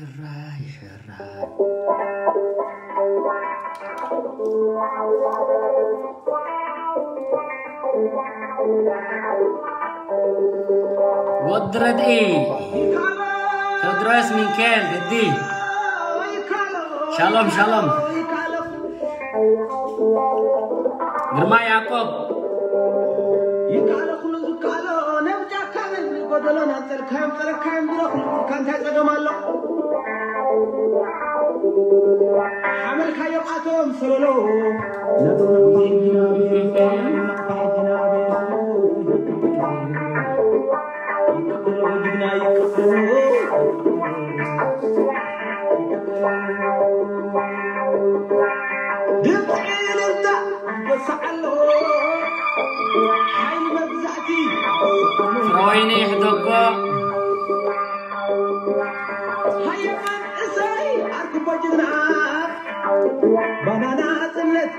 ሕራይ ሕራይ። ወዲ ረድኢ፣ ቴድሮስ ሚካኤል ግዲ። ሻሎም ሻሎም። ግርማ ያዕቆብ። ይከኣሎ ኩሉ ዝከኣሎ፣ ነብጫካ ነብሪ ጎደሎ፣ ናንጸልካዮም ጸረካዮም ቢሮ፣ ኩሉ ጉድካ እንታይ ጸገም ኣሎ? ሓመልካዮም ኣቶም ሰለሎ፣ ነቶም ናቕፋ ሕጂና ቤት፣ ናቕፋ ሕጂና ቤት። ይከኣሎ ጅግና ይከኣሎ። ድምፂ እልልታ ይወስዕ ኣሎ። ሓይሊ መግዛእቲ ፍረወይኒ ይሕደጎ። ሃየ መንእሰይ ኣርክቦ ጅግና። ባናና ጽነት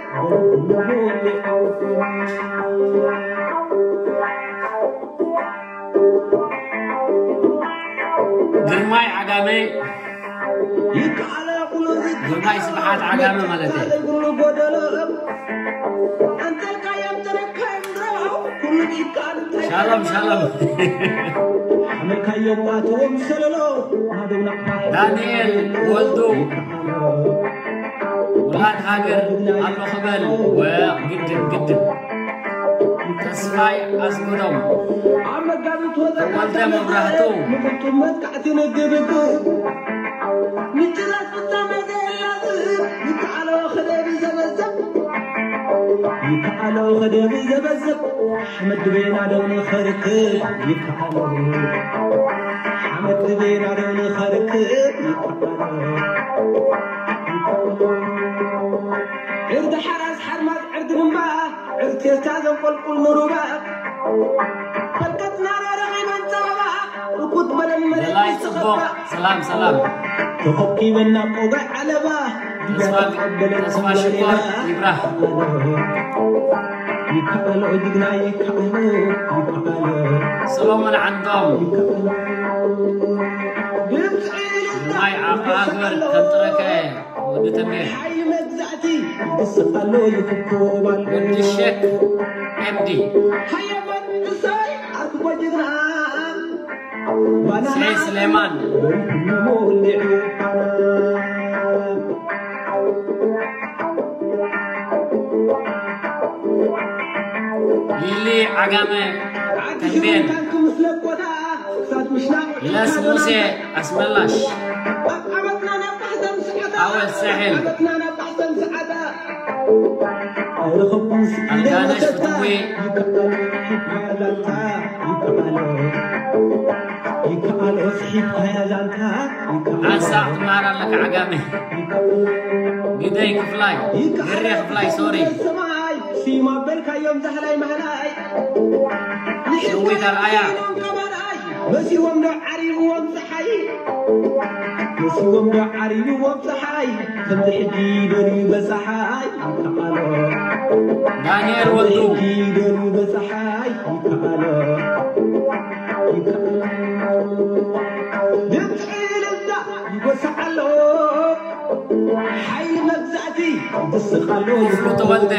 ግርማይ ዓጋመ፣ ይከኣለ ኩሉ ግርማይ ስብሓት ዓጋመ ማለት እዩ። ዘይብሉ ጎደሎ፣ ኣንጠልካዮም ተረካዮም ድሮ፣ ኩሉ ይከኣል እንታይ ሻሎም ሻሎም። ሓመልካዮም ኣቶም ሰለሎ፣ ናደው ናቕፋ ዳንኤል ወልዱ። ውላድ ሃገር ኣሎ ክበል። ወ-፣ ግድን፣ ግድን። ተስፋይ ኣስገዶም። ኣብ መጋቢት ወዘ ተወልደ መብራህቱ። ምቕልጡም መጥቃዕቲ ንግብግብ። ምጭራስ ፍጻመ ዘየላዝብ። ይከኣሎ ክደብ ዘበዘብ። ይከኣሎ ክደብ ዘበዘብ። ሓመድ ድቤና ደው ንኸርክብ። ይከኣሎ። ሓመድ ድቤና ደው ንኸርክብ። ይከኣሎ። ዕርዲ ሓራስ ሓርማዝ ዕርዲ ድማ፣ ዕርዲ ቴስታ ዘንቆልቁል ንሩባ። ፈልቀትና ረኺበን ጸበባ፣ እኩት በለን መሬት በላይ ጽቡቕ። ዝኸባ። ሰላም፣ ሰላም። ተኸኪበና ቆባይ ዓለባ፣ ተስፋ፣ ተቐበለን ተስፋ ሽኮር ተቐበለና። ይብራህ። ይከኣሎ ጅግና ይከኣሎ፣ ይከኣሎ። ሰሎሞን ዓንዶም። ይከኣሎ። ድምፂ ናይ ዓቕሚ ሃገር ከምጥረከ ወዲ ተሜ። ሓይሊ መግዛእቲ ይስቕ ኣሎ ይፍኮብ ኣሎ። ወዲ ሸክ ኤምዲ። ሃየ መንእሰይ ኣርክቦ ጅግና። ባናና ስሌ ስሌማን። በሪሁኒ ሞሊዑ ባናና። ሊሊ ዓጋመ ተንቤን። ለስ ሙሴ ኣስመላሽ። ኣወል ሳሕል። ኣልጋነሽ ፍትዊ። ዓሳ ትመሃር ኣለካ ዓጋመ። ግደይ ክፍላይ፣ ግሬ ክፍላይ፣ ሶሪ። ሰማይ ሲማ በልካዮም ዛህላይ ማህላይ። ሸዊት ኣርኣያ። መሲዎም ዶ ዓሪብዎም ፀሓይ? መሲዎም ዶ ዓሪብዎም ፀሓይ? ከምዚ ሕጂ ደልዩ በፀሓይ ይከኣሎ። ዳንኤል ወልዱ። ከምዚ ሕጂ ደልዩ በፀሓይ ይከኣሎ። ይከኣሎ። ድምፂ እልልታ ይጎስዕ ኣሎ። ሓይሊ መግዛእቲ ይስቕ ኣሎ። ክፍሉ ተወልደ።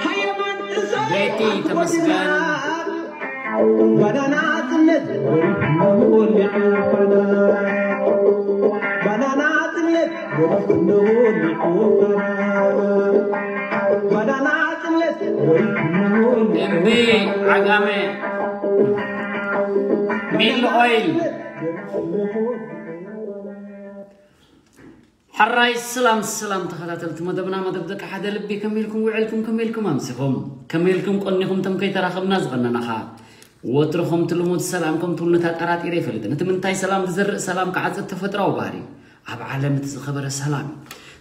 ሃየማን እሰይ ቤቲ ተመስገን። ባናና ጽነት ወሊዑ ባናና። ባናና ጽነት ወሊዑ ባናና። ባናና ጽነት ወሊዑ እምቢ ዓጋመ። ሚል ኦይል። ሕራይ ሰላም ሰላም ተኸታተልቲ መደብና፣ መደብ ደቂ ሓደ ልቢ፣ ከመይ ኢልኩም ውዕልኩም? ከመይ ኢልኩም ኣምሲኹም? ከመይ ኢልኩም ቀኒኹም? ተም ከይተራኸብና ዝቐነናኻ ወትሩ ከምቲ ልሙድ ሰላም ከም ትብሉኒ ኣጠራጢረ ኣይፈልጥን። እቲ ምንታይ ሰላም ዝዘርእ ሰላም ክዓጽድ ተፈጥራዊ ባህሪ እዩ። ኣብ ዓለም እቲ ዝኸበረ ሰላም እዩ።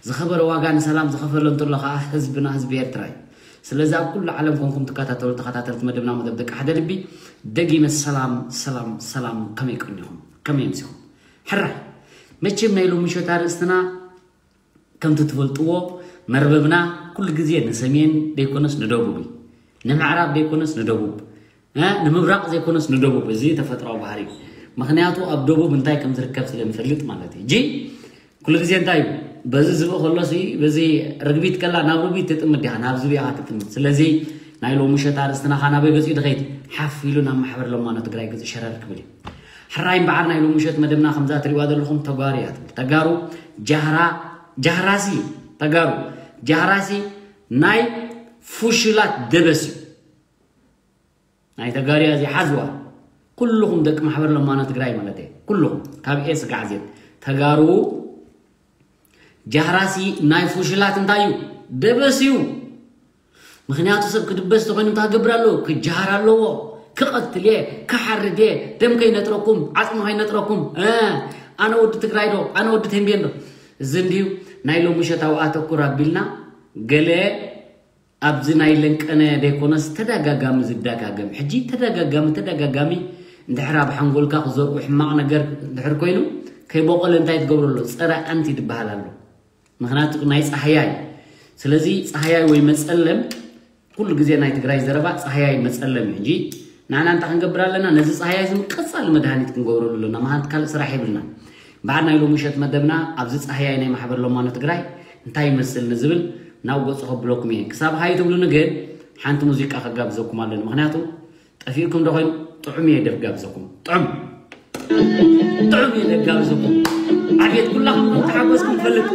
ዝኸበረ ዋጋ ንሰላም ዝኸፈለ እንተሎ ኸዓ ህዝብና ህዝቢ ኤርትራ እዩ። ስለዚ ኣብ ኩሉ ዓለም ኮንኩም ትከታተሉ ተኸታተልቲ መደብና መደብ ደቂ ሓደ ልቢ ደጊመ ሰላም ሰላም ሰላም፣ ከመይ ቀኒኹም? ከመይ ኣምሲኹም? ሕራይ መቸም ናይ ሎሚ ምሸት ኣርእስትና ከምቲ ትፈልጥዎ መርበብና ኩሉ ግዜ ንሰሜን ደይኮነስ ንደቡብ እዩ። ንምዕራብ ደይኮነስ ንደቡብ፣ እ፣ ንምብራቕ ዘይኮነስ ንደቡብ። እዚ ተፈጥራዊ ባህሪ እዩ። ምኽንያቱ ኣብ ደቡብ እንታይ ከም ዝርከብ ስለ ንፈልጥ ማለት እዩ። እጂ ኩሉ ግዜ እንታይ እዩ? በዚ ዝብኢ ከሎ ሲ፣ በዚ ርግቢት ከላ ናብ ርግቢት ትጥምት ዲኻ? ናብ ዝብኢ ኢኻ ትጥምት። ስለዚ ናይ ሎሚ ምሸት ኣርእስትና ኻብ ናበይ ገጺኡ ድኸይድ? ሓፍ ኢሉ ናብ ማሕበር ለማኖ ትግራይ ገጺኡ ሸረር ክብል እዩ። ሕራይ እምበኣር ናይ ሎሚ ምሸት መደብና ከምዛ ትሪእዋ ዘለኹም ተጋሩ እያ ትብል። ተጋሩ ጃህራ፣ ጃህራሲ፣ ተጋሩ ጃህራሲ ናይ ፉሽላት ደበስ እዩ። ናይ ተጋርያ እዚ ሓዝዋ። ኩልኹም ደቂ ማሕበር ለማኖ ትግራይ ማለት እየ። ኩልኹም ካብ ኤ ስጋዕ ዜድ ተጋሩ ጃህራሲ ናይ ፉሽላት እንታይ እዩ? ደበስ እዩ። ምኽንያቱ ሰብ ክድበስ ተኾይኑ እንታይ ክገብር ኣለዎ? ክጃሃር ኣለዎ። ክቐትል እየ፣ ክሓርድ እየ፣ ደም ከይነጥረኩም፣ ዓጽሚ ከይነጥረኩም። እ፣ ኣነ ወዲ ትግራይ ዶ? ኣነ ወዲ ተንቤን ዶ? እዚ እንድዩ ናይ ሎሚ ምሸት ኣብኡ ኣተኩር ኣቢልና ገለ ኣብዚ ናይ ለንቀነ ደይኮነስ ተደጋጋሚ ዝደጋገም፣ ሕጂ ተደጋጋሚ፣ ተደጋጋሚ እንድሕር ኣብ ሓንጎልካ ክዘርኡ ሕማቕ ነገር እንድሕር ኮይኑ፣ ከይበቆለ እንታይ ትገብሮ ኣሎ? ጸረ ኣንቲ ትበሃል ኣሎ። ምኽንያቱ ናይ ጻህያይ። ስለዚ ጻህያይ ወይ መጸለም ኩሉ ግዜ ናይ ትግራይ ዘረባ ጻህያይ መጸለም እዩ እንጂ ንዓና እንታይ ክንገብር ኣለና? ነዚ ጻህያይ እዚ ቀጻሊ መድሃኒት ክንገብረሉ ኣለና። ምኽንያቱ ካልእ ስራሕ የብልናን። በዓል ናይ ሎሚ ምሸት መደብና ኣብዚ ጻህያይ ናይ ማሕበር ለማኖ ትግራይ እንታይ ይመስል ንዝብል ናብ ገጹ ከብለኩም እየ። ክሳብ ሃይ ትብሉኒ ግን ሓንቲ ሙዚቃ ከጋብዘኩም ኣለኒ። ምኽንያቱ ጠፊእኩም ዶ ኮይኑ ጥዑም እየ ደፍ ጋብዘኩም። ጥዑም። ጥዑም እየ ደፍ ጋብዘኩም። ዓቤት ኩላኹም ከም ተሓጎስኩም ፈልጥ።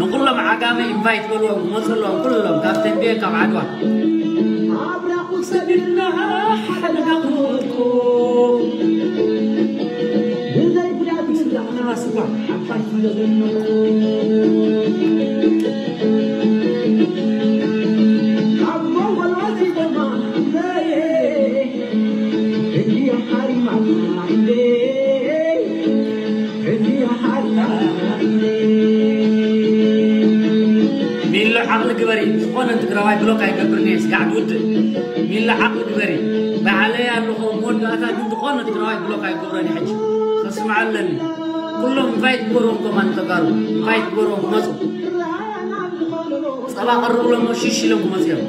ንኩሎም ዓጋመ ኢንቫይት በልዎም፣ ክመፁ ኣለዎም ኩሎም፣ ካብ ተንቤን፣ ካብ ዓድዋ። ሚሎ ዓቕሊ ግበሪ፣ ዝኾነ ትግራዋይ ብሎክ ኣይገብርን እየ፣ ስጋዕ ትውድእ። ሚሎ ዓቕሊ ግበሪ፣ ባዕለይ ኣለኹ ኣብ መወዳእታ፣ ግን ዝኾነ ትግራዋይ ብሎክ ኣይገብሮን እየ። ሕጂ ከስምዓ ኣለኒ። ኩሎም ኢንቫይት ግበርዎም፣ ከማን ተጋሩ ኢንቫይት ግበርዎም፣ ክመፁ። ጸባ ቀርብሎም፣ ሽሽ ኢሎም ክመፁ እዮም።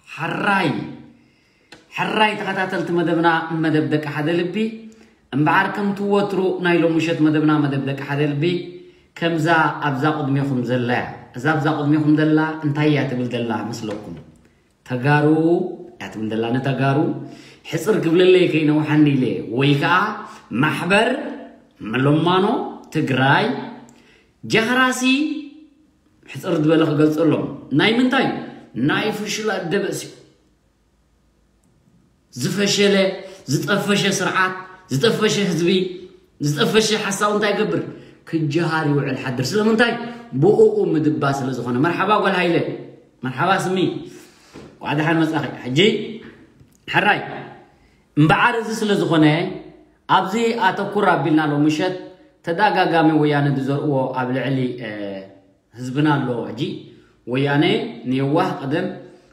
ሕራይ ሕራይ ተኸታተልቲ መደብና፣ መደብ ደቂ ሓደ ልቢ። እምበኣር ከምቲ ወትሩ ናይ ሎምሸት መደብና፣ መደብ ደቂ ሓደ ልቢ፣ ከምዛ ኣብዛ ቅድሜኹም ዘላ እያ። እዛ ኣብዛ ቅድሜኹም ዘላ እንታይ እያ ትብል ዘላ መስለኩም? ተጋሩ እያ ትብል ዘላ። ንተጋሩ ሕፅር ክብለለይ ከይነውሓኒ ኢለ፣ ወይ ከዓ ማሕበር መለማኖ ትግራይ ጃህራሲ ሕፅር ዝበለ ክገልፀሎም። ናይ ምንታይ? ናይ ፍሽላ ደበስ እዩ። ዝፈሸለ፣ ዝጠፈሸ ስርዓት፣ ዝጠፈሸ ህዝቢ፣ ዝጠፈሸ ሓሳብ እንታይ ይገብር? ክጀሃር ይውዕል ሓድር። ስለምንታይ? ብኡኡ ምድባ ስለ ዝኾነ። መርሓባ ጓል ሃይለ፣ መርሓባ ስሚ፣ ኳዕ ደሓን መጻኺ። ሕጂ ሕራይ እምበዓር እዚ ስለ ዝኾነ ኣብዚ ኣተኩር ኣቢልና ሎምሸት ተደጋጋሚ ወያነ ዝዘርእዎ ኣብ ልዕሊ ህዝብና ኣሎ። ሕጂ ወያነ ንየዋህ ቀደም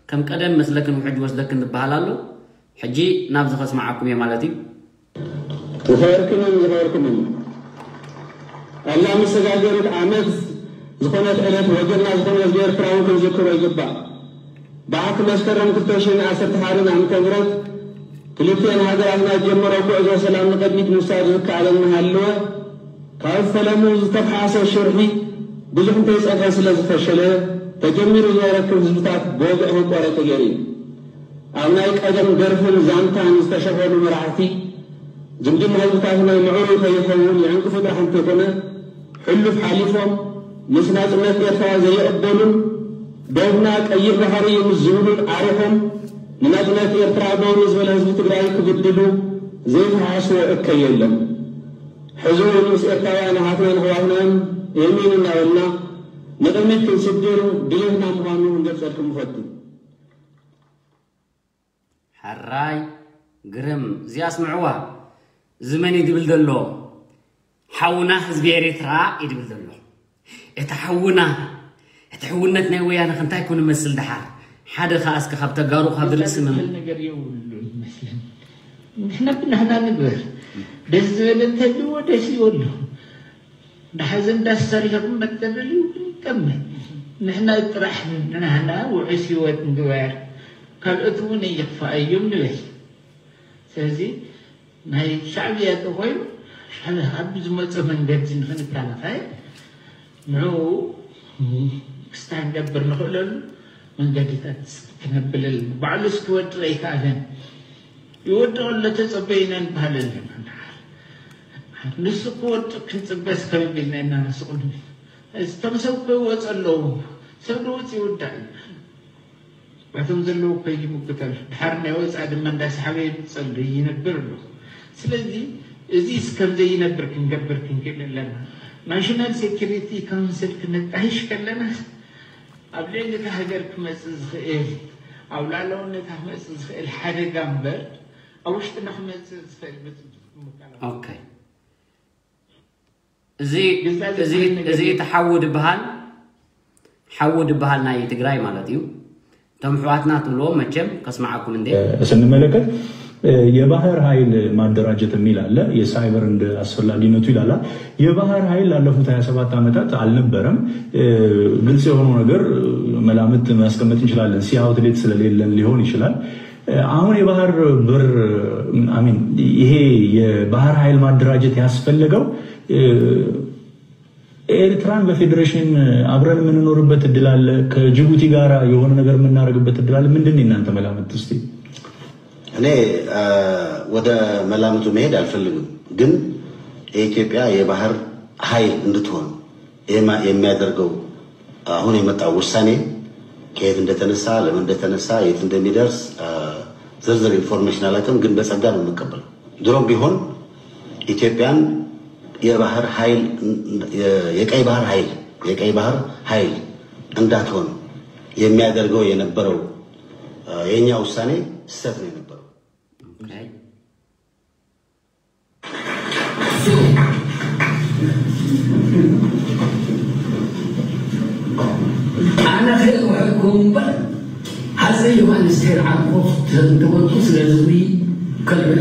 ከም ቀደም መስለክን ውሕጅ ወስደክን ዝበሃል ኣሎ። ሕጂ ናብዚ ከስምዓኩም እየ ማለት እዩ። ዝኸበርክንን ዝኸበርኩምን ኣላ መሰጋገሪት ዓመት ዝኾነት ዕለት ወገንና ዝኾነ ህዝቢ ኤርትራ እውን ክንዝክሮ ይግባእ። ብዓርኪ መስከረም ክልተ ሽሕን ዓሰርተ ሓደን ዓመተ ምህረት ክልቲኤን ሃገራትና ዝጀመሮ ጉዕዞ ሰላም ንቕድሚት ምውሳድ ዝከኣለ እናሃለወ ካብ ፈለሙ ዝተፍሓሰ ሽርሒ ብዙሕ እንተይጸንሐ ስለ ዝፈሸለ ተጀሚሩ ዝነበረ ክብ ህዝብታት ብወግዒ ክቋረጽ ተገይሩ እዩ። ኣብ ናይ ቀደም ደርፍን ዛንታን ዝተሸፈኑ መራሕቲ ዝምድና ህዝብታትና ምዕሩይ ከይኸውን ይዕንቅፉ ጥራሕ እንተይኮነ ሕሉፍ ሓሊፎም ምስ ናጽነት ኤርትራ ዘይቕበሉን ዶብና ቀይሕ ባሕሪ እዩ ምስ ዝብሉን ዓሪኾም ንናጽነት ኤርትራ ዶ ንዝበለ ህዝቢ ትግራይ ክብድሉ ዘይፈሓስዎ እከይ የለን። ሕዚ እውን ምስ ኤርትራውያን ኣሓትናን ኣሕዋትናን እሚን እናበልና ንቕድሚት ክንስድር ድሌትና ምዃኑ ክንገልጸልኩም ንፈቱ። ሕራይ ግርም እዚኣ ኣስምዕዋ። እዚ መን እዩ ድብል ዘሎ? ሓውና ህዝቢ ኤርትራ እዩ ድብል ዘሎ። እቲ ሓውና እቲ ሕውነት ናይ ወያነ ክንታይ ኮን ይመስል ደሓር? ሓደ ከኣ እስከ ካብ ተጋሩ ካብ ርእሲ መም ነገር የብሉን ይመስለኒ። ንሕና ብናህና ንግበር። ደስ ዝበለ እንተልዎ ደስ ይበሉ። ንሓዘን ዳስ ሰሪሕኩም መተደልዩ ይጠመ። ንሕና ጥራሕ ንናህና ውዑስ ህይወት ንግበር። ካልኦት እውን ይኽፋኣዮም ንበል። ስለዚ ናይ ሻዕብያ ተኾይኑ ሻዕብያ ካብ ዝመፀ መንገዲ ንክንከላኸል ንዕኡ ክስታይ ንገብር ንኽእለሉ መንገድታት ክነብለል ባዕሉ እስኪወድቕ ኣይከኣለን። ይወድቕ ኣሎ ተፀበይና ንበሃል ኣለና። ንሱ ክወድቕ ክንፅበስ ከመይ ኢልና ኢና ንስቕሉ? እቶም ሰብ ከይወፁ ኣለዉ። ሰብ ንውፅ ይውዳእ እዩ። ባቶም ዘለዉ እኮ ይምጉተሉ። ድሓር ናይ ወፃእ ድማ እንዳሰሓበ ይምፀሉ ይነብር ኣሎ። ስለዚ እዚስ ከም ዘይነብር ክንገብር ክንክእል ኣለና። ናሽናል ሴኩሪቲ ካውንስል ክነጣይሽ ከለና ኣብ ልዕሊ እታ ሃገር ክመፅእ ዝኽእል ኣብ ላዕለውነታ ክመፅእ ዝኽእል ሓደጋ እምበር ኣብ ውሽጥና ክመፅእ ዝኽእል ብፅቡቅ ምከላኸል። ኦኬ። እዚ እዚ እቲ ሓዊ ድበሃል ሓዊ ድበሃል ናይ ትግራይ ማለት እዩ። እቶም ኣሕዋትና ትብልዎም መቸም ከስምዓኩም እንዴ። ስንመለከት የባህር ኃይል ማደራጀት የሚል አለ። የሳይበር እንደ አስፈላጊነቱ ይላል። የባህር ኃይል ላለፉት ሃያ ሰባት ዓመታት አልነበረም። ግልጽ የሆነው ነገር መላምት ማስቀመጥ እንችላለን። ሲ አውትሌት ስለሌለን ሊሆን ይችላል። አሁን የባህር በር አሚን ይሄ የባህር ኃይል ማደራጀት ያስፈለገው ኤርትራን በፌዴሬሽን አብረን የምንኖርበት እድል አለ። ከጅቡቲ ጋር የሆነ ነገር የምናደርግበት እድል አለ። ምንድን ነው የእናንተ መላምት እስቲ? እኔ ወደ መላምቱ መሄድ አልፈልግም፣ ግን የኢትዮጵያ የባህር ኃይል እንድትሆን የሚያደርገው አሁን የመጣው ውሳኔ ከየት እንደተነሳ፣ ለምን እንደተነሳ፣ የት እንደሚደርስ ዝርዝር ኢንፎርሜሽን አላውቅም፣ ግን በጸጋ ነው የምቀበለው። ድሮም ቢሆን ኢትዮጵያን የባህር ኃይል የቀይ ባህር ኃይል የቀይ ባህር ኃይል እንዳትሆን የሚያደርገው የነበረው የኛ ውሳኔ ስህተት ነው የነበረው። እምበር ሃፀይ ዮሃንስ ተይርዓልኮ ተበልኩ ስለ ዝብሪ ከልብለ።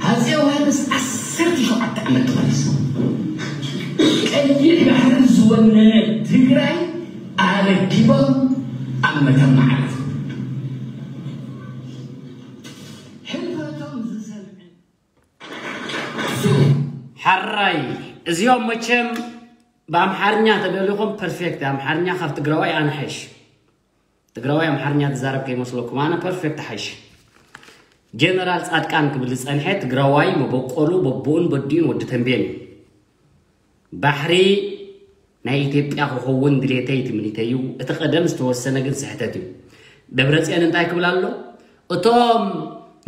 ሃፀይ ዮሃንስ ዓሰርተ ሸውዓተ ዓመት ተመሊሱ ቀይሕ ባሕሪ ዝወነነ ትግራይ ኣረኪቦም ኣብ መተማ ዓረፉ። ሕልፈቶም ዝሰምዐ ሓራይ እዚኦም መቸም ብኣምሓርኛ ተደሊኹም ፐርፌክት ኣምሓርኛ ካብ ትግራዋይ ኣነ ሓይሽ ትግራዋይ ኣምሓርኛ ትዛረብ ከይመስለኩም ኣነ ፐርፌክት ሓይሽ ጀነራል ፃድቃን ክብል ዝፀንሐ ትግራዋይ መበቆሉ በቦኡን በዲኡን ወዲ ተንቤን እዩ ባሕሪ ናይ ኢትዮጵያ ክኸውን ድሌተይ ትምኒተይ እዩ እቲ ቀደም ዝተወሰነ ግን ስሕተት እዩ ደብረፅዮን እንታይ ክብል ኣሎ እቶም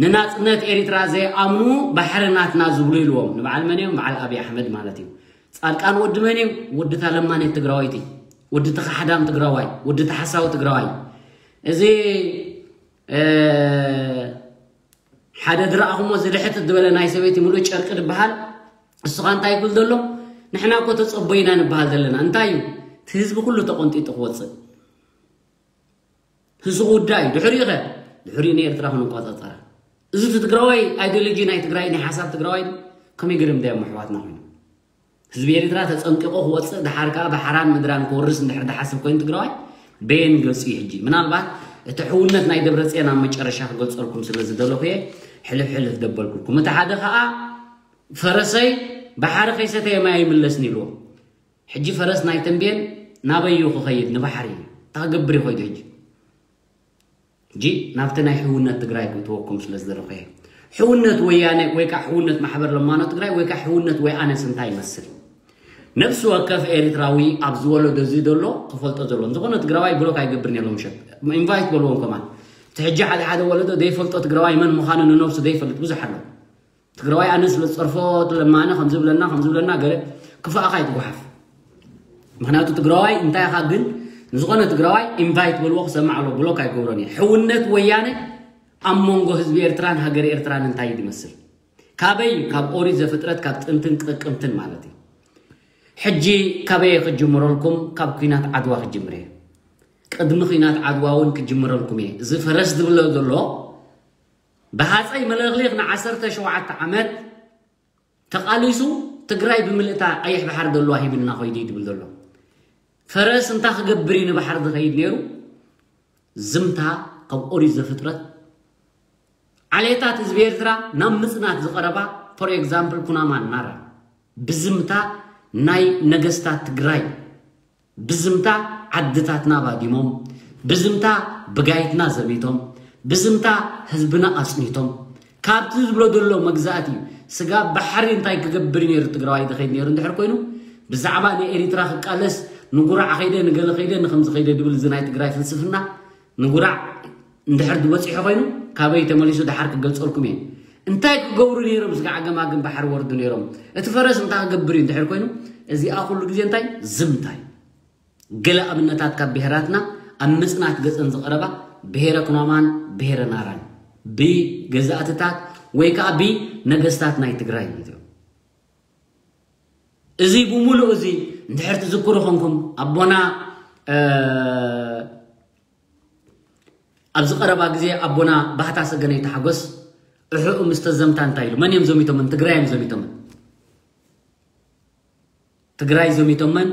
ንናፅነት ኤሪትራ ዘይኣምኑ ባሕሪ ናትና ዝብሉ ኢልዎም ንበዓል መን እዮም በዓል ኣብይ ኣሕመድ ማለት እዩ ፃድቃን ወዲ መን እዩ ወዲ ታለማኔት ትግራወይቲ ወዲ ተኻሕዳም ትግራዋይ ወዲ ተሓሳዊ ትግራዋይ እዚ ሓደ ድረኣኹሞ ዝልሕት ዝበለ ናይ ሰበይቲ ሙሉእ ጨርቂ ዝበሃል እሱኻ እንታይ ይብል ዘሎ ንሕና እኮ ተፀቦይና ንበሃል ዘለና እንታይ እዩ እቲ ህዝቢ ኩሉ ተቆንጢጡ ክወፅእ ህዝቢ ውዳ እዩ ድሕሪኡ ኸ ድሕሪኡ ንኤርትራ ክንቆፃፀራ እዚ እቲ ትግራዋይ ኣይዲዮሎጂ ናይ ትግራይ ናይ ሓሳብ ትግራዋይ ከመይ ገይሮም ዳዮም ኣሕዋትና ኮይኑ ህዝቢ ኤርትራ ተፀንቂቑ ክወፅእ ደሓር ከዓ ብሓራን ምድራን ክወርስ እንድሕር ዝሓስብ ኮይኑ ትግራዋይ በየን ገፁ እዩ ሕጂ ምናልባት እቲ ሕውነት ናይ ደብረፅዮን ኣብ መጨረሻ ክገልፀልኩም ስለ ዝደለኹ እየ ሕልፍ ሕልፍ ደበልኩልኩም እቲ ሓደ ከዓ ፈረሰይ ባሕሪ ከይሰተየ ማይ ኣይምለስን ኢልዎ ሕጂ ፈረስ ናይ ተንቤን ናበይ እዩ ክኸይድ ንባሕሪ እዩ እንታይ ክገብር እዩ ከይዱ ሕጂ ሕጂ ናብቲ ናይ ሕውነት ትግራይ ክእትወኩም ስለ ዝደለኹ እየ። ሕውነት ወያነ ወይ ከዓ ሕውነት ማሕበር ለማኖ ትግራይ ወይ ከዓ ሕውነት ወይኣነስ እንታይ ይመስል? ነብሲ ወከፍ ኤርትራዊ ኣብ ዝወለዶ እዚ ዘሎ ክፈልጦ ዘለዎ እንተኾነ ትግራዋይ ብሎክ ኣይገብርን የሎም ሸት ኢንቫይት በልዎም ከማን እቲ ሕጂ ሓደ ሓደ ወለዶ ዘይፈልጦ ትግራዋይ መን ምዃኑ ንነብሱ ዘይፈልጥ ብዙሕ ኣሎ። ትግራዋይ ኣነ ስለ ዝፀርፎ ለማነ ከምዚ ብለና ከምዚ ብለና ገለ ክፋእኻ ይትጓሓፍ ምክንያቱ ትግራዋይ እንታይ ኢኻ ግን ንዝኾነ ትግራዋይ ኢንቫይት በልዎ ክሰምዕ ኣሎ ብሎክ ኣይገብሮን እየ ሕውነት ወያነ ኣብ መንጎ ህዝቢ ኤርትራን ሃገር ኤርትራን እንታይ እዩ ዝመስል ካበይ ካብ ኦሪት ዘፍጥረት ካብ ጥንትን ቅቅምትን ማለት እዩ ሕጂ ካበይ ክጅምረልኩም ካብ ኩናት ዓድዋ ክጅምር እየ ቅድሚ ኩናት ዓድዋ እውን ክጅምረልኩም እየ እዚ ፈረስ ዝብሎ ዘሎ ብሃፀይ መለኽሊኽ ንዓሰርተ ሸውዓተ ዓመት ተቓሊሱ ትግራይ ብምልእታ ቀይሕ ባሕሪ ዘለዋ ሂብና ኮይዱ እዩ ዝብል ዘሎ ፈረስ እንታይ ክገብር እዩ ንባሕሪ ዝኸይድ ነይሩ ዝምታ ካብ ኦሪት ዘፍጥረት ዓሌታት ህዝቢ ኤርትራ ናብ ምፅናት ዝቐረባ for example ኩናማን ናራ ብዝምታ ናይ ነገስታት ትግራይ ብዝምታ ዓድታትና ባዲሞም፣ ብዝምታ ብጋይትና ዘሚቶም፣ ብዝምታ ህዝብና ኣፅኒቶም፣ ካብቲ ዝብሎ ዘሎ መግዛእቲ ስጋብ ባሕሪ እንታይ ክገብር እዩ ነይሩ ትግራዋይ ዝኸይድ ነይሩ እንድሕር ኮይኑ ብዛዕባ ንኤሪትራ ክቃለስ ንጉራዕ ኸይደ ንገለ ኸይደ ንኸምዚ ኸይደ ድብል እዚ ናይ ትግራይ ፍልስፍና ንጉራዕ እንድሕር ዝበፂሑ ኮይኑ ካበይ ተመሊሱ ደሓር ክገልፀልኩም እየ እንታይ ክገብሩ ነይሮም ስጋ ዓገማግን ባሕሪ ወርዱ ነይሮም እቲ ፈረስ እንታይ ክገብር እዩ እንድሕር ኮይኑ እዚኣ ኩሉ ግዜ እንታይ ዝምታይ ገለ ኣብነታት ካብ ብሄራትና ኣብ ምፅናት ገፀን ዝቐረባ ብሄረ ኩናማን ብሄረ ናራን ብገዛእትታት ወይ ከዓ ብነገስታት ናይ ትግራይ ማለት እዩ እዚ ብምሉእ እዚ እንድሕር ትዝክሩ ኮንኩም ኣቦና ኣብዚ ቀረባ ግዜ ኣቦና ባህታ ሰገነይ ተሓጎስ እሕኡ ምስ ተዘምታ እንታይ ኢሉ መን እዮም ዘሚቶምን ትግራይ እዮም ዘሚቶምን ትግራይ ዘሚቶመን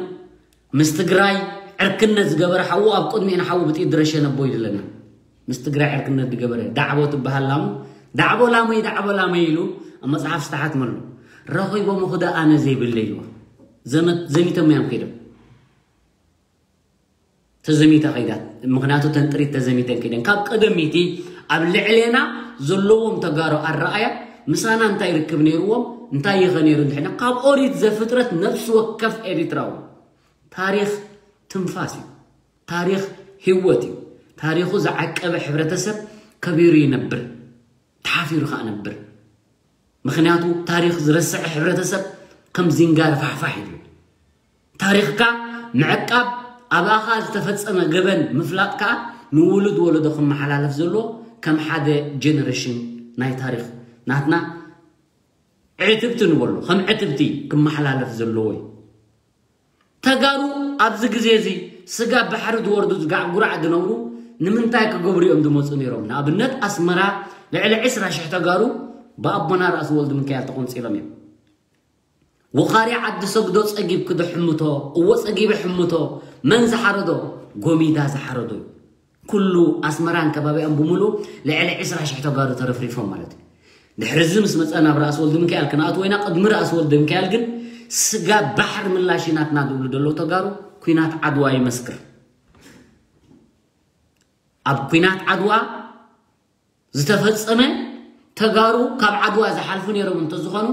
ምስ ትግራይ ዕርክነት ዝገበረ ሓዉ ኣብ ቅድሚኡ ንሓዉ ብጥይት ድረሸ ነቦ ኢሉ ኣለና ምስ ትግራይ ዕርክነት ዝገበረ ዳዕቦ ትበሃል ላሙ ዳዕቦ ላመይ ዳዕቦ ላመይ ኢሉ ኣብ መፅሓፍ ዝተሓትመሉ ረኺቦም ኹደ ኣነ ዘይብለ ኢልዋ ዘሚቶም እዮም ከይዶም ተዘሚታ ከይዳት ምክንያቱ ተንጥሪት ተዘሚተን ከይደን ካብ ቀደሚቲ ኣብ ልዕሌና ዘለዎም ተጋሩ ኣረኣያ ምሳና እንታይ ርክብ ነይርዎም እንታይ ይኸ ነይሩ እንድሕና ካብ ኦሪት ዘፍጥረት ነብሲ ወከፍ ኤሪትራዊ ታሪክ ትንፋስ እዩ ታሪክ ህይወት እዩ ታሪኩ ዝዓቀበ ሕብረተሰብ ከቢሩ ይነብር ተሓፊሩ ከዓ ነብር ምኽንያቱ ታሪኽ ዝረስዐ ሕብረተሰብ ከም ዚንጋር ፋሕፋሕ ይብል። ታሪኽካ ምዕቃብ፣ ኣባኻ ዝተፈጸመ ገበን ምፍላጥ ከኣ ንውሉድ ወለዶ ክመሓላለፍ ዘለዎ ከም ሓደ ጀነሬሽን ናይ ታሪኽ ናትና ዕትብቲ ንበሎ፣ ከም ዕትብቲ ክመሓላለፍ ዘለዎ እዩ። ተጋሩ ኣብዚ ግዜ እዚ ስጋ ባሕሪ ዝወርዱ ዝጋዕጉራዕ ዝነብሩ ንምንታይ ክገብሩ እዮም ዝመፁ ነይሮም? ንኣብነት ኣስመራ ልዕሊ ዕስራ ሽሕ ተጋሩ ብኣቦና ራእሲ ወልድ ምካኤል ተቆንፂሎም እዮም። ወኻሪ ዓዲ ሰግዶ ጸጊብ ክዶ ሕምቶ፣ እዎ ጸጊብ ሕምቶ፣ መን ዝሓረዶ? ጎሚዳ ዝሓረዶ እዩ። ኩሉ ኣስመራን ከባቢኣን ብምሉእ ልዕሊ ዕስራ ሽሕ ተጋሩ ተረፍሪፎም ማለት እዩ። ድሕሪ እዚ ምስ መጸ ናብ ራእሲ ወልድ ምካኤል ክንኣትዎ ኢና። ቅድሚ ራእሲ ወልድ ምካኤል ግን ስጋ ባሕሪ ምላሽ ናትና ዝብሉ ዘለዉ ተጋሩ ኩናት ዓድዋ ይመስክር። ኣብ ኩናት ዓድዋ ዝተፈጸመ ተጋሩ ካብ ዓድዋ ዝሓልፉ ነይሮም እንተዝኾኑ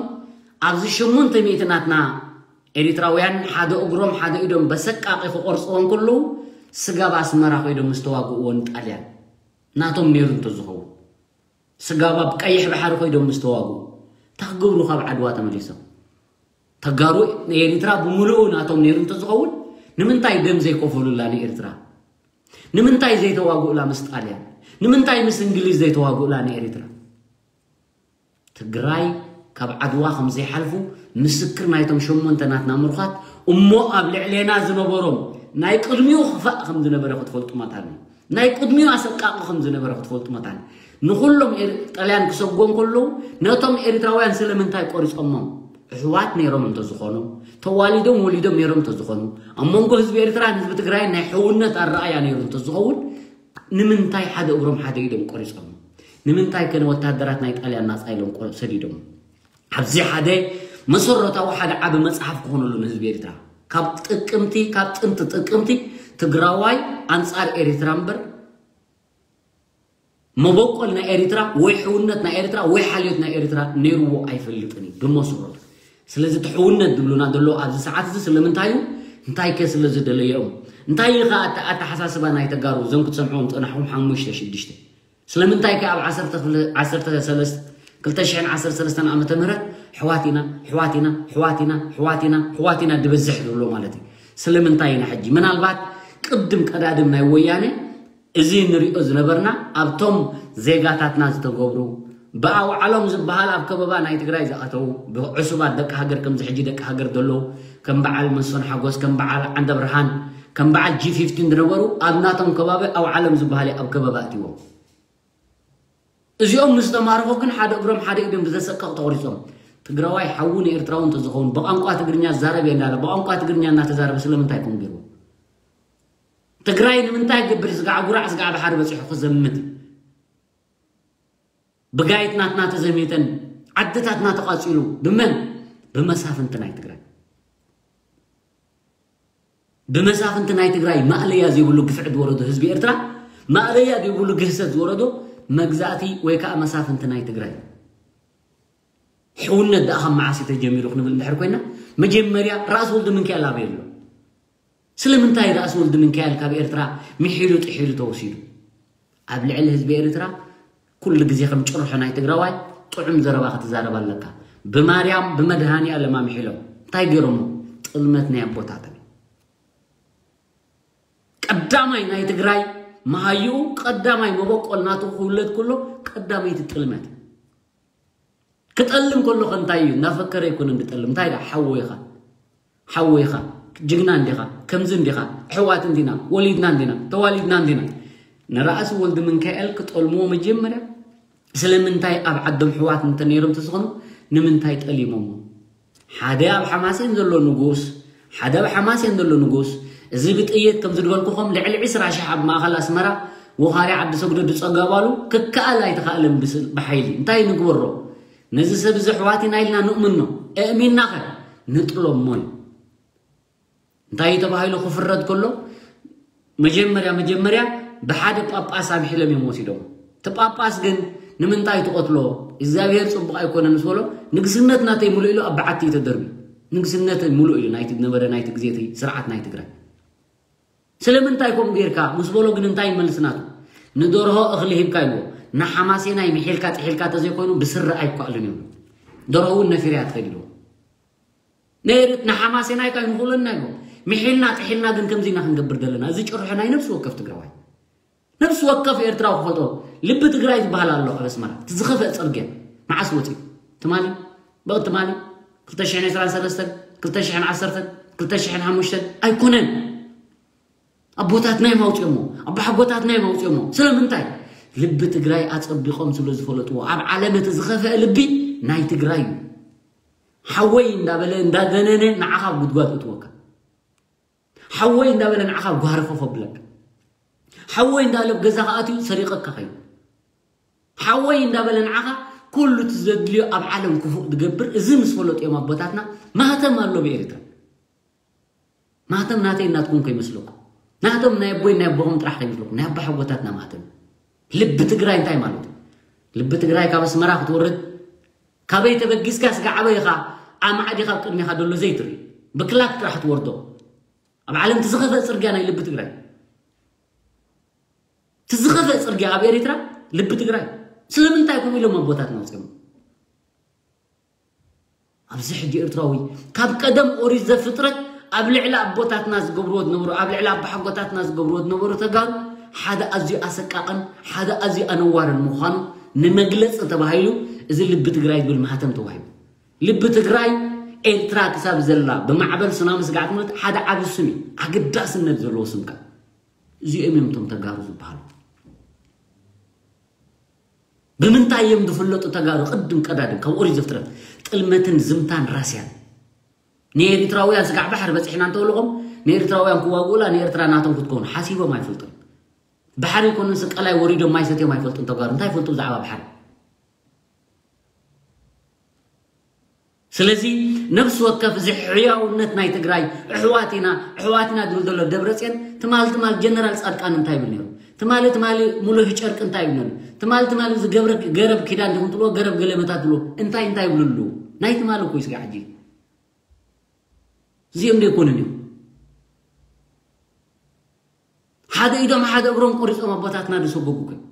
ኣብዚ ሽሙንተ ሚእቲ ናትና ኤሪትራውያን ሓደ እግሮም ሓደ ኢዶም በሰቃቂ ክቆርፅዎ እንከለዉ ስጋብ ኣስመራ ኮይዶም ምስ ተዋግእዎ ንጣልያን ናቶም ነይሩ እንተዝኸውን ስጋብ ኣብ ቀይሕ ባሕሪ ኮይዶም ምስ ተዋግኡ እንታይ ክገብሩ ካብ ዓድዋ ተመሊሶም? ተጋሩ ንኤሪትራ ብምሉኡ ናቶም ነይሩ እንተዝኸውን ንምንታይ ደም ዘይከፈሉላ ንኤሪትራ? ንምንታይ ዘይተዋግኡላ ምስ ጣልያን? ንምንታይ ምስ እንግሊዝ ዘይተዋግኡላ ንኤሪትራ? ትግራይ ካብ ዓድዋ ከም ዘይሓልፉ ምስክር ናይቶም ሸሞንተ ናትና ምሩኻት እሞ ኣብ ልዕሌና ዝነበሮም ናይ ቅድሚኡ ክፋእ ከም ዝነበረ ክትፈልጡ መታን እዩ። ናይ ቅድሚኡ ኣሰቃቂ ከም ዝነበረ ክትፈልጡ መታን እዩ። ንኹሎም ኤር- ጣልያን ክሰጎም ከለዉ ነቶም ኤሪትራውያን ስለምንታይ ቆሪጾሞም? ኣሕዋት ነይሮም እንተዝኾኑ፣ ተዋሊዶም ወሊዶም ነይሮም እንተዝኾኑ፣ ኣብ መንጎ ህዝቢ ኤርትራን ህዝቢ ትግራይን ናይ ሕውነት ኣረኣያ ነይሩ እንተዝኸውን፣ ንምንታይ ሓደ እግሮም ሓደ ኢዶም ቆሪጾም? ንምንታይ ከ ንወታደራት ናይ ጣልያን ናጻ ኢሎም ቆ- ሰዲዶም? ኣብዚ ሓደ መሰረታዊ ሓደ ዓቢ መጽሓፍ ክኾነሉ ንህዝቢ ኤርትራ ካብ ጥቅምቲ ካብ ጥንቲ ጥቅምቲ ትግራዋይ ኣንጻር ኤርትራ እምበር መበቆል ናይ ኤርትራ ወይ ሕውነት ናይ ኤርትራ ወይ ሓልዮት ናይ ኤርትራ ነይርዎ ኣይፈልጥን እዩ ብመሰረቱ። ስለዚ እቲ ሕውነት ዝብሉና ዘለዉ ኣብዚ ሰዓት እዚ ስለምንታይ እዩ? እንታይ ከ ስለ ዝደለዮም? እንታይ እዩ ከ ኣተ- ኣተሓሳስባ ናይ ተጋሩ እዞም ክትሰምዕዎም ዝጸናሕኩም ሓሙሽተ ሽዱሽተ? ስለምንታይ ከ ኣብ ዓሰርተ ክፍለ- ዓሰርተ ሰለስተ ክልተ ሽሕን ዓሰርተ ሰለስተን ዓመተ ምህረት ሕዋት ኢና ሕዋት ኢና ሕዋት ኢና ሕዋት ኢና ሕዋት ኢና ድበዝሕ ዝብሎ ማለት እዩ? ስለምንታይ ኢና ሕጂ ምናልባት ቅድም ቀዳድም ናይ ወያነ እዚ ንሪኦ ዝነበርና ኣብቶም ዜጋታትና ዝተገብሩ ብኣውዓሎም ዝበሃል ኣብ ከበባ ናይ ትግራይ ዝኣተዉ ብዕሱባት ደቂ ሃገር ከምዚ ሕጂ ደቂ ሃገር ዘለዉ ከም በዓል መሶን ሓጎስ ከም በዓል ዓንደ ብርሃን ከም በዓል ጂ ፊፍቲን ዝነበሩ ኣብ ናቶም ከባቢ ኣውዓሎም ዝበሃል ኣብ ከበባ እትዎም እዚኦም ምስ ተማርኾ ግን ሓደ እግሮም ሓደ ኢዶም ብዘሰቀቕ ተቑሪጾም ትግራዋይ ሓዉ ንኤርትራዊ እንተዝኸውን ብቋንቋ ትግርኛ ዝዛረብ እየ እንዳለ ብቋንቋ ትግርኛ እናተዛረበ ስለምንታይ ከምኡ ገይርዎ? ትግራይ ንምንታይ ግብር ስጋዕ ጉራዕ ስጋዕ ባሕሪ በፂሑ ክዘምት ብጋይት ናትና ተዘሚተን ዓድታትና ተቃፂሉ ብመን ብመሳፍንቲ ናይ ትግራይ ብመሳፍንቲ ናይ ትግራይ ማእለያ ዘይብሉ ግፍዒ ዝወረዶ ህዝቢ ኤርትራ ማእለያ ዘይብሉ ግህሰት ዝወረዶ መግዛእቲ ወይ ከዓ መሳፍንቲ ናይ ትግራይ ሕውነት ደኣ ካብ መዓስ ተጀሚሩ ክንብል እንድሕር ኮይና መጀመርያ ራእሲ ወልደ ምንካኤል ኣበይ ኣሎ ስለምንታይ ራእሲ ወልደ ምንካኤል ካብ ኤርትራ ምሒሉ ጥሒሉ ተወሲዱ ኣብ ልዕሊ ህዝቢ ኤርትራ ኩሉ ግዜ ከም ጭርሖ ናይ ትግራዋይ ጥዑም ዘረባ ክትዛረብ ኣለካ ብማርያም ብመድሃኒ ኣለም ኣምሒሎም እንታይ ገይሮሞ ጥልመት ናይ ኣቦታትና ቀዳማይ ናይ ትግራይ መሃይኡ ቀዳማይ መበቆል ናቱ ክውለድ ከሎ ቀዳመይቲ ጥልመት ክጠልም ከሎ ከ እንታይ እዩ እናፈከረ ኣይኮነን ዝጠልም እንታይ ደኣ ሓወይኻ ሓወይኻ ጅግና እንዲኻ ከምዚ እንዲኻ ኣሕዋት እንዲና ወሊድና እንዲና ተዋሊድና እንዲና ንራእሲ ወልዲ ምንካኤል ክጠልምዎ መጀመርያ ስለምንታይ ኣብ ዓዶም ኣሕዋት እንተ ነይሮም ተዝኾኑ ንምንታይ ጠሊሞሞ ሓደ ኣብ ሓማሴን ዘሎ ንጉስ ሓደ ኣብ ሓማሴን ዘሎ ንጉስ እዚ ብጥይት ከም ዝድበልኩኹም ልዕሊ ዕስራ ሽሕ ኣብ ማእኸል ኣስመራ ወኻሪ ዓዲ ሰግዶ ዝፀገባሉ ክከኣል ኣይተኻእለን ብሓይሊ እንታይ ንግበሮ ነዚ ሰብ እዚ ኣሕዋት ኢና ኢልና ንእምኖ እእሚንና ኸ ንጥሎሞ እዩ እንታይ ተባሂሉ ክፍረድ ከሎ መጀመርያ መጀመርያ ብሓደ ጳጳስ ኣምሒሎም እዮም ወሲዶም እቲ ጳጳስ ግን ንምንታይ ትቐትሎ እግዚኣብሔር ፅቡቕ ኣይኮነን ምስ በሎ ንግስነት ናተይ ሙሉእ ኢሉ ኣብ በዓቲ እዩ ተደርቢ ንግስነት ሙሉእ እዩ ናይቲ ዝነበረ ናይቲ ግዜ እቲ ስርዓት ናይ ትግራይ ስለምንታይ ከምኡ ጌርካ ምስ በሎ ግን እንታይ ይመልስ ናቱ ንደርሆ እኽሊ ሂብካ ይብሎ ንሓማሴናይ ምሒልካ ጥሒልካ ተዘይኮይኑ ብስረ ኣይኳእልን ይብሎ ደርሆ እውን ነፊርያ ትኸይድ ይብሎ ነይርት ንሓማሴናይ ካ ይንኽእለና ይብሎ ምሒልና ጥሒልና ግን ከምዚ ኢና ክንገብር ዘለና እዚ ጭርሖ ናይ ነብሲ ወከፍ ትግራዋይ ነብሲ ወከፍ ኤርትራዊ ክፈልጦ ልቢ ትግራይ ዝበሃል ኣሎ ኣብ ኣስመራ እቲ ዝኸፍአ ፅርግያ መዓስ ወፂኡ ትማሊ ብቕ ትማሊ ክልተ ሽሕን ዕስራን ሰለስተን ክልተ ሽሕን ዓሰርተን ክልተ ሽሕን ሓሙሽተን ኣይኮነን። ኣቦታትና እዮም ኣውፅኦሞ፣ ኣባሓጎታትና እዮም ኣውፅኦሞ። ስለምንታይ? ልቢ ትግራይ ኣፀቢቖም ስለ ዝፈለጥዎ። ኣብ ዓለም እቲ ዝኸፍአ ልቢ ናይ ትግራይ እዩ። ሓወይ እንዳበለ እንዳደነነ ንዓኻ ኣብ ጉድጓድ እትወካ። ሓወይ እንዳበለ ንዓኻ ጓርፈፍ ኣብለካ። ሓወይ እንዳበለ ኣብ ገዛኻ ኣትዩ ሰሪቐካ ኸይዱ። ሓወይ እንዳበለ ንዓኻ ኩሉ እቲ ዘድልዮ ኣብ ዓለም ክፉእ ዝገብር። እዚ ምስ ፈለጡ እዮም ኣቦታትና። ማህተም ኣሎ ብኤርትራ። ማህተም ናተይ እናትኩም ከይመስለኩም። ናቶም ናይ ኣቦይ ናይ ኣቦኹም ጥራሕ ከይመስለኩም። ናይ ኣባሓጎታትና ማህተም። ልቢ ትግራይ እንታይ ማለት እዩ? ልቢ ትግራይ ካብ ኣስመራ ክትወርድ፣ ካበይ ተበጊስካ ስጋዕ ኣበይኻ ኣማዕዲኻ ኣብ ቅድሜኻ ዘሎ ዘይትርኢ፣ ብክላክ ጥራሕ ትወርዶ። ኣብ ዓለም እቲ ዝኸፍአ ፅርግያ ናይ ልቢ ትግራይ፣ እቲ ዝኸፍአ ፅርግያ ኣብ ኤርትራ ልቢ ትግራይ። ስለምንታይ ከምኡ ኢሎም ኣቦታትና ወፂኦም? ኣብዚ ሕጂ ኤርትራዊ ካብ ቀደም ኦሪት ዘፍጥረት ኣብ ልዕሊ ኣቦታትና ዝገብርዎ ዝነበሩ፣ ኣብ ልዕሊ ኣባሓጎታትና ዝገብርዎ ዝነበሩ ተጋሩ ሓደ ኣዝዩ ኣሰቃቕን ሓደ ኣዝዩ ኣነዋርን ምዃኑ ንመግለፂ ተባሂሉ እዚ ልቢ ትግራይ ዝብል ማህተም ተዋሂቡ። ልቢ ትግራይ ኤርትራ ክሳብ ዘላ ብማዕበል ሱናሚ ስጋዕ ትሞት ሓደ ዓቢ ስም እዩ፣ ኣገዳስነት ዘለዎ ስም ከኣ። እዚኦም እዮም እቶም ተጋሩ ዝበሃሉ። ብምንታይ እዮም ዝፍለጡ ተጋሩ? ቅድም ቀዳድም ካብ ኦሪት ዘፍጥረት ጥልመትን ዝምታን ራስያን። ንኤሪትራውያን ስጋዕ ባሕሪ በፂሕና እንተበልኹም ንኤሪትራውያን ክዋግኡላ ንኤርትራ ናቶም ክትከውን ሓሲቦም ኣይፈልጡን። ባሕሪ ይኮኑን ስቀላይ ወሪዶም ማይ ሰትዮም ኣይፈልጡን ተጋሩ። እንታይ ይፈልጡ ብዛዕባ ባሕሪ? ስለዚ ነፍሲ ወከፍ እዚ ሕያውነት ናይ ትግራይ ኣሕዋት ኢና ኣሕዋት ኢና ዝብል ዘሎ ደብረፅዮን ትማል ትማል ጀነራል ፃድቃን እንታይ ይብል ነይሩ? ትማሊ ትማሊ ሙሉህ ጨርቂ እንታይ ይብል ነይሩ? ትማሊ ትማሊ እዚ ገብረ ገረብ ኪዳን ድኹም ትብልዎ ገረብ ገለመታት ትብልዎ እንታይ እንታይ ይብሉ ኣለዉ? ናይ ትማሊ እኮ እዩ ስጋ ሕጂ እዚኦም ዶ ኣይኮኑን እዮም ሓደ ኢዶም ሓደ እግሮም ቆሪፆም ኣቦታትና ዝሰጎጉ እኮ እዮም።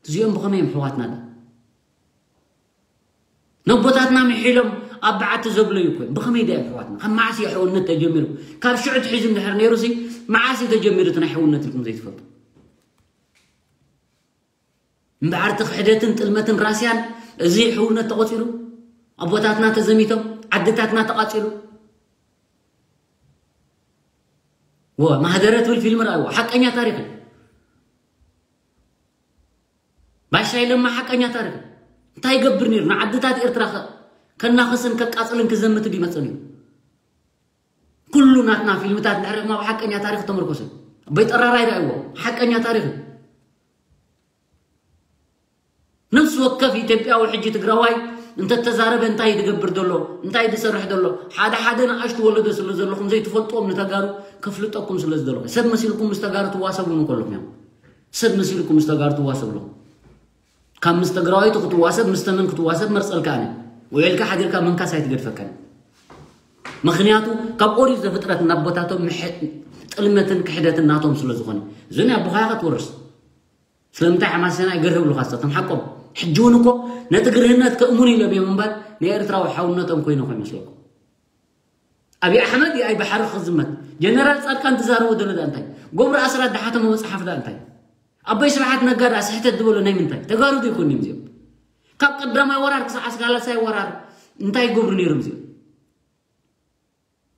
እዚኦም ብኸመይ እዮም ኣሕዋትና ዶ? ነቦታትና ምሒሎም ኣብ በዓቲ ዘብለዩ እኮ እዮም። ብኸመይ ዶ እዮም ኣሕዋትና? ካብ መዓስ እዩ ሕውነት ተጀሚሩ? ካብ ሽዑ ትሒዙ እንድሕር ነይሩ ሲ መዓስ እዩ ተጀሚሩ እቲ ናይ ሕውነት ኢልኩም ዘይትፈልጡ? እምበኣር እቲ ክሕደትን ጥልመትን ራስያን እዚ ሕውነት ተቖፂሩ ኣቦታትና ተዘሚቶም ዓድታትና ተቓፂሉ ወ ማህደረ ትብል ፊልም ረኣይዎ ሓቀኛ ታሪክ እዩ። ባሻይ ለማ ሓቀኛ ታሪክ እዩ። እንታይ ይገብር ነይሩ ንዓድታት ኤርትራ ከ- ከናኽስን ከቃፅልን ክዘምት ይመፅእ ነይሩ። ኩሉ ናትና ፊልምታት እንድሕር ሪእኹም ኣብ ሓቀኛ ታሪክ ተመርኮሰ እዩ። ኣቦይ ጠራራይ ረኣይዎ ሓቀኛ ታሪክ እዩ። ነፍሲ ወከፍ ኢትዮጵያዊ ሕጂ ትግራዋይ እንተተዛረበ እንታይ ዝገብር ዘሎ እንታይ ዝሰርሕ ዘሎ ሓደ ሓደ ንኣሽቱ ወለዶ ስለ ዘለኹም ዘይትፈልጥዎም ንተጋሩ ከፍልጠኩም ስለ ዝደለኹ ሰብ መሲልኩም ምስ ተጋሩ ትዋሰቡ ንከለኹም እዮም ሰብ መሲልኩም ምስ ተጋሩ ትዋሰብ ኣለኹም ካብ ምስ ትግራዋይቲ ክትዋሰብ ምስ ተመን ክትዋሰብ መርፀልካ ኣነ ውዒልካ ሓዲርካ ምንካስ ኣይትገድፈካን ምኽንያቱ ካብ ኦሪት ዘፍጥረት እናቦታቶም ጥልመትን ክሕደትን ናቶም ስለ ዝኾነ እዚ ናይ ኣቦኻ ኢኻ ትወርስ ስለምንታይ ሓማሴና ይገርህብሉኻ እስኻ ከም ሓቆም ሕጂ እውን እኮ ነቲ ግርህነት ከእምኑ ኢሎም እዮም እምበር ንኤርትራዊ ሓውነቶም ኮይኖ ከይመስለኩም ኣብይ ኣሕመድ ይኣይ ባሕሪ ክዝመት ጀነራል ፃድቃን ትዛረቦ ዘሎ ዳ እንታይ ጎብሪ ኣስራት ድሓተሞ መፅሓፍ ዳ እንታይ ኣቦይ ስብሓት ነጋ ዳ ስሕተት ዝበሎ ናይ ምንታይ ተጋሩ ዶ ይኮን እዮም እዚኦም ካብ ቀዳማይ ወራር ክሳዕ ሳልሳይ ወራር እንታይ ይገብሩ ነይሮም እዚኦም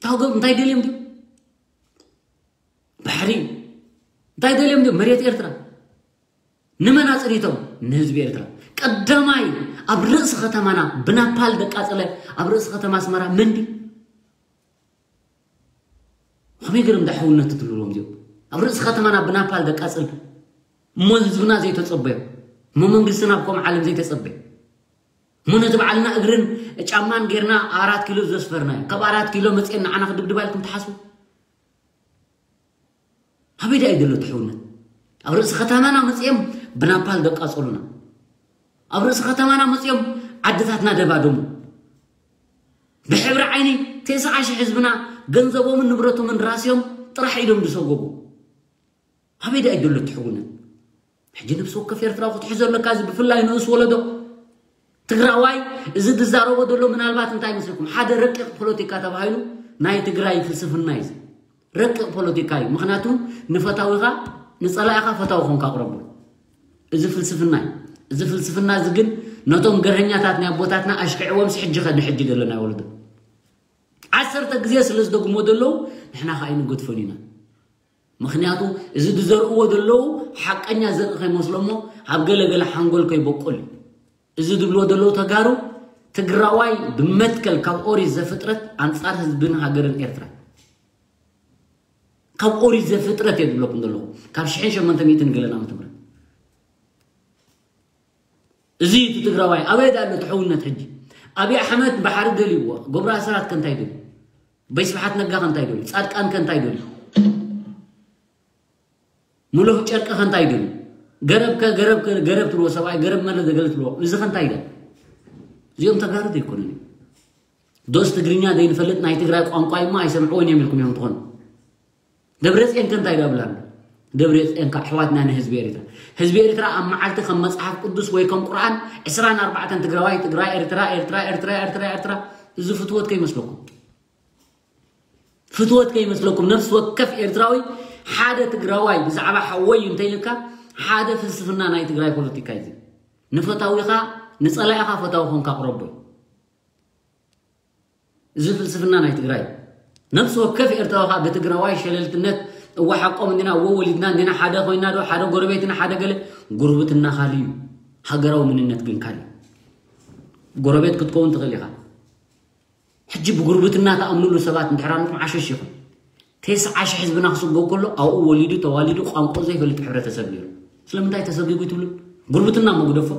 ታውገብ እንታይ ደልዮም ድዩ ባሕሪ እንታይ ደልዮም ድዩ መሬት ኤርትራ ንመን ኣፅኒቶም ንህዝቢ ኤርትራ ቀዳማይ ኣብ ርእሲ ከተማና ብናፓል ደቃፀለ ኣብ ርእሲ ከተማ ኣስመራ መን ድዩ ከመይ ገይሮም ዳ ሕውነት ትብልዎም እዚኦም ኣብ ርእሲ ከተማና ብናፓል ደቃፅል እሞ ህዝብና ዘይተፀበዮ እሞ መንግስትና ኣብ ከምኡ ዓለም ዘይተፀበየ እሞ ነቲ በዓልና እግርን ጫማን ጌርና ኣራት ኪሎ ዘስፈርናዮ ካብ ኣራት ኪሎ መፅኤን ንዓና ክድብድባ ኢልኩም ትሓስቡ ኣበይ ደኣ እዩ ዘሎ እቲ ሕውነት ኣብ ርእሲ ከተማና መፅኦም ብናፓል ደቃፀሉና ኣብ ርእሲ ከተማና መፅኦም ዓድታትና ደባደሙ ብሕብሪ ዓይኒ ተስዓ ሽሕ ህዝብና ገንዘቦምን ንብረቶምን ራስዮም ጥራሕ ኢዶም ዝሰጎጉ ኣበይ ደኣ ይደሎ እቲ ሕውነት ሕጂ ነብሲ ወከፍ ኤርትራዊ ክትሕዞ ኣለካ እዚ ብፍላይ ንኡስ ወለዶ ትግራዋይ እዚ ዝዛረቦ ዘሎ ምናልባት እንታይ ይመስለኩም ሓደ ረቂቕ ፖለቲካ ተባሂሉ ናይ ትግራይ ፍልስፍና እዩ ረቂቕ ፖለቲካ እዩ ምክንያቱ ንፈታዊኻ ንፀላኢኻ ፈታዊ ኮንካ ኣቕረቦ እዚ ፍልስፍና እዩ እዚ ፍልስፍና እዚ ግን ነቶም ገርሀኛታት ናይ ኣቦታትና ኣሽኪዕዎም ስሕጂ ከ ንሕጂ ዘሎ ናይ ወለዶ ዓሰርተ ግዜ ስለ ዝደግሞ ዘለዉ ንሕና ከዓ ኣይንገድፎን ኢና። ምክንያቱ እዚ ዝዘርእዎ ዘለዉ ሓቀኛ ዘርኢ ከይመስሎ እሞ ኣብ ገለገለ ሓንጎል ከይበቁል እዩ። እዚ ዝብልዎ ዘለዉ ተጋሩ ትግራዋይ ብመትከል ካብ ኦሪት ዘፍጥረት ኣንጻር ህዝብን ሃገርን ኤርትራ ካብ ኦሪት ዘፍጥረት እየ ዝብለኩም ዘለኹ ካብ ሽሕን ሸሞንተ ሚእትን ገለን ዓመተ ምህረት እዚ እቲ ትግራዋይ ኣበይ ዳ ኣሎ እቲ ሕውነት ሕጂ ኣብይ ኣሕመድ ባሕሪ ደልይዎ ገብሩ ኣስራት ከንታይ ደልዩ በይ ስብሓት ነጋ ከንታይ ደልዩ ፃድቃን ከንታይ ደልዩ ሙሉህ ጨርቂ ከንታይ ደልዩ ገረብ ከ ገረብ ከ ገረብ ትብልዎ ሰብኣይ ገረብ መለ ዘገለ ትብልዎ እዚ ከንታይ ደ እዚኦም ተጋሩ ዘይኮኑን እዮም ዶስ ትግርኛ ዘይንፈልጥ ናይ ትግራይ ቋንቋ እሞ ኣይሰምዕዎን እዮም ኢልኩም እዮም ትኾኑ ደብረፅኤን ከ እንታይ ዳብል ኣሎ ደብረፅኤን ከዓ ኣሕዋትና ንህዝቢ ኤርትራ ህዝቢ ኤርትራ ኣብ መዓልቲ ከም መፅሓፍ ቅዱስ ወይ ከም ቁርኣን ዕስራን ኣርባዕተን ትግራዋይ ትግራይ ኤርትራ ኤርትራ ኤርትራ ኤርትራ ኤርትራ እዚ ፍትወት ከይመስለኩም ፍትወት ከይመስለኩም ነፍሲ ወከፍ ኤርትራዊ ሓደ ትግራዋይ ብዛዕባ ሓወይ እንተይልካ ሓደ ፍልስፍና ናይ ትግራይ ፖለቲካ እዩ ንፈታዊኻ ንፀላኢኻ ፈታዊ ኮንካ ቅረቦይ እዚ ፍልስፍና ናይ ትግራይ ነፍሲ ወከፍ ኤርትራዊ ከዓ ብትግራዋይ ሸለልትነት እወ ሓቆም እንዲና እወ ወሊድና እንዲና ሓደ ኮይና ዶ ሓደ ጎረቤትና ሓደ ገለ ጉርብትና ካል እዩ ሃገራዊ ምንነት ግን ካል እዩ ጎረቤት ክትከውን ትኽእል ኢኻ ሕጂ ብጉርብትና ተኣምኑሉ ሰባት እንድሕር ኣለኩም ዓሸሽ ኢኹም ተስዓ ሽሕ ህዝብና ክስጎ ከሎ ኣብኡ ወሊዱ ተዋሊዱ ቋንቋ ዘይፈልጥ ሕብረተሰብ ነይሩ ስለምንታይ ተሰጊጉ ትብሉ ጉርብትና መጉደፎ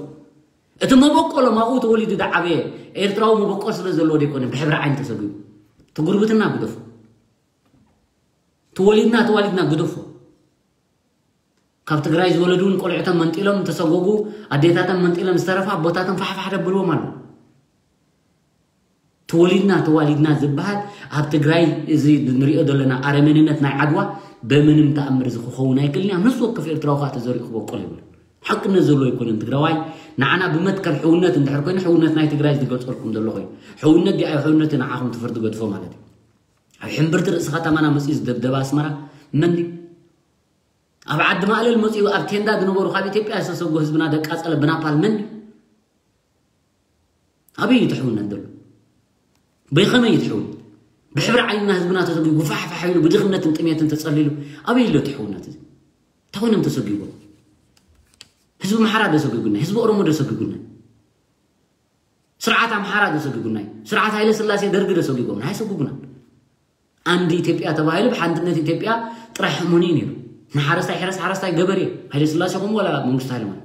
እቲ መበቆሎም ኣብኡ ተወሊዱ ዝዓበየ ኤርትራዊ መበቆል ስለ ዘለዎ ዘይኮነ ብሕብሪ ዓይኒ ተሰጊሩ እቲ ጉርብትና ግደፎ ተወሊድና ተዋሊድና ግደፎ ካብ ትግራይ ዝወለዱ እውን ቆልዕቶም መንጢሎም ተሰጎጉ ኣዴታቶም መንጢሎም ዝተረፋ ኣቦታቶም ፋሕፋሕ ደብልዎም ኣሎ ተወሊድና ተዋሊድና ዝበሃል ኣብ ትግራይ እዚ ንሪኦ ዘለና ኣረመኔነት ናይ ዓድዋ በምንም ተኣምር እዚ ክኸውን ኣይክእልን ኣብ ነፍሲ ወከፍ ኤርትራዊ ከዓ ተዘሪኡ ክበቁል ይብሉ ሓቅነት ዘለዎ ኣይኮነን ትግራዋይ ንዓና ብመትከል ሕውነት እንድሕር ኮይኑ ሕውነት ናይ ትግራይ ዝገልፀልኩም ዘሎ ኮይኑ ሕውነት ዲኣይ ሕውነት ንዓኹም ትፍርዲ ገድፎ ማለት እዩ ኣብ ሕምብርቲ ርእሲ ከተማና መፅኡ ዝደብደበ ኣስመራ መን ኣብ ዓዲ ማእለል መፅኡ ኣብ ቴንዳ ዝነበሩ ካብ ኢትዮጵያ ዝተሰጎ ህዝብና ደቃፀለ ብናፓል መን ኣበይ እዩ ትሕውነት ዘሎ ብኸመይ እዩ ትሕውነት ብሕብሪ ዓይንና ህዝብና ተሰጊጉ ጉፋሕፋሕ ኢሉ ብድኽነትን ጥሜትን ተፀሊሉ ኣበይ ኣሎ ትሕውነት እዚ እንታይ ኮይኖም ተሰጊጎም ህዝቢ ምሓራ ደሰጊጉና ህዝቢ ኦሮሞ ደሰጊጉና ስርዓት ኣምሓራ ደሰጊጉና ስርዓት ሃይለ ስላሴ ደርጊ ደሰጊጎም ኣይሰጉጉና ኣንድ ኢትዮጵያ ተባሂሉ ብሓንትነት ኢትዮጵያ ጥራሕ ሕሙን እዩ ነይሩ ንሓረስታይ ሕረስ ሓረስታይ ገበሬ ሃይለ ስላሴ ከምኡ ወላ መንግስቱ ሃይለማርያም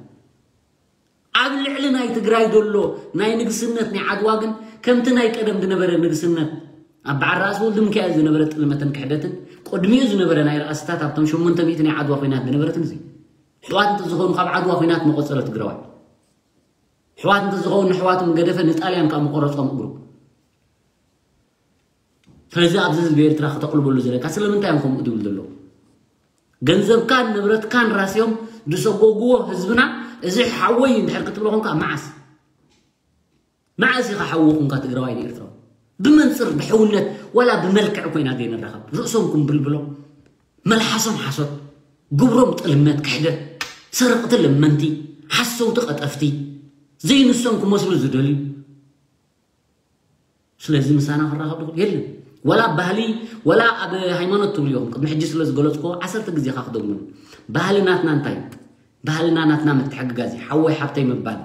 ኣብ ልዕሊ ናይ ትግራይ ዘሎ ናይ ንግስነት ናይ ዓድዋ ግን ከምቲ ናይ ቀደም ዝነበረ ንግስነት ኣብ በዓል ራእሲ ወልዲ ሚካኤል ዝነበረ ጥልመትን ክሕደትን ቅድሚኡ ዝነበረ ናይ ራእስታት ኣብቶም ሸሞንተ ሚእቲ ናይ ዓድዋ ኮይናት ዝነበረትን እዚ ሕዋት እንተዝኾኑ ካብ ዓድዋ ኮይናት መቆፀረ ትግራዋይ ሕዋት እንተዝኸውን ንሕዋቶም ገደፈ ንጣልያን ካብ መቆረፆም እግሩ ስለዚ ኣብዚ ህዝቢ ኤርትራ ክተቕልበሉ ዘለካ ስለምንታይ እዮም ከምኡ ድብል ዘለዉ ገንዘብካን ንብረትካን ራስዮም ዝሰጎግዎ ህዝብና እዚ ሓወይ እንድሕር ክትብሎ ኮንካ መዓስ መዓስ ኢኻ ሓዊ ኮንካ ትግራዋይ ንኤርትራዊ ብመንፅር ብሕውነት ወላ ብመልክዕ ኮይና ዘይንራኸብ ርእሶም ኩምብልብሎም መልሓሶም ሓሶት ግብሮም ጥልመት ክሕደት ሰረቕቲ ለመንቲ ሓሰውቲ ቀጠፍቲ ዘይንሶም ክመስሉ ዝደልዩ ስለዚ ምሳና ክራኸብ ድኹል የለን ወላ ኣብ ባህሊ ወላ ኣብ ሃይማኖት ትብሉ ኢኹም ቅድሚ ሕጂ ስለ ዝገለፅኮ ዓሰርተ ግዜ ካ ክደግሙሉ ባህሊ ናትና እንታይ እዩ ባህልና ናትና ምትሕግጋዝ እዩ ሓወይ ሓብተይ ምባል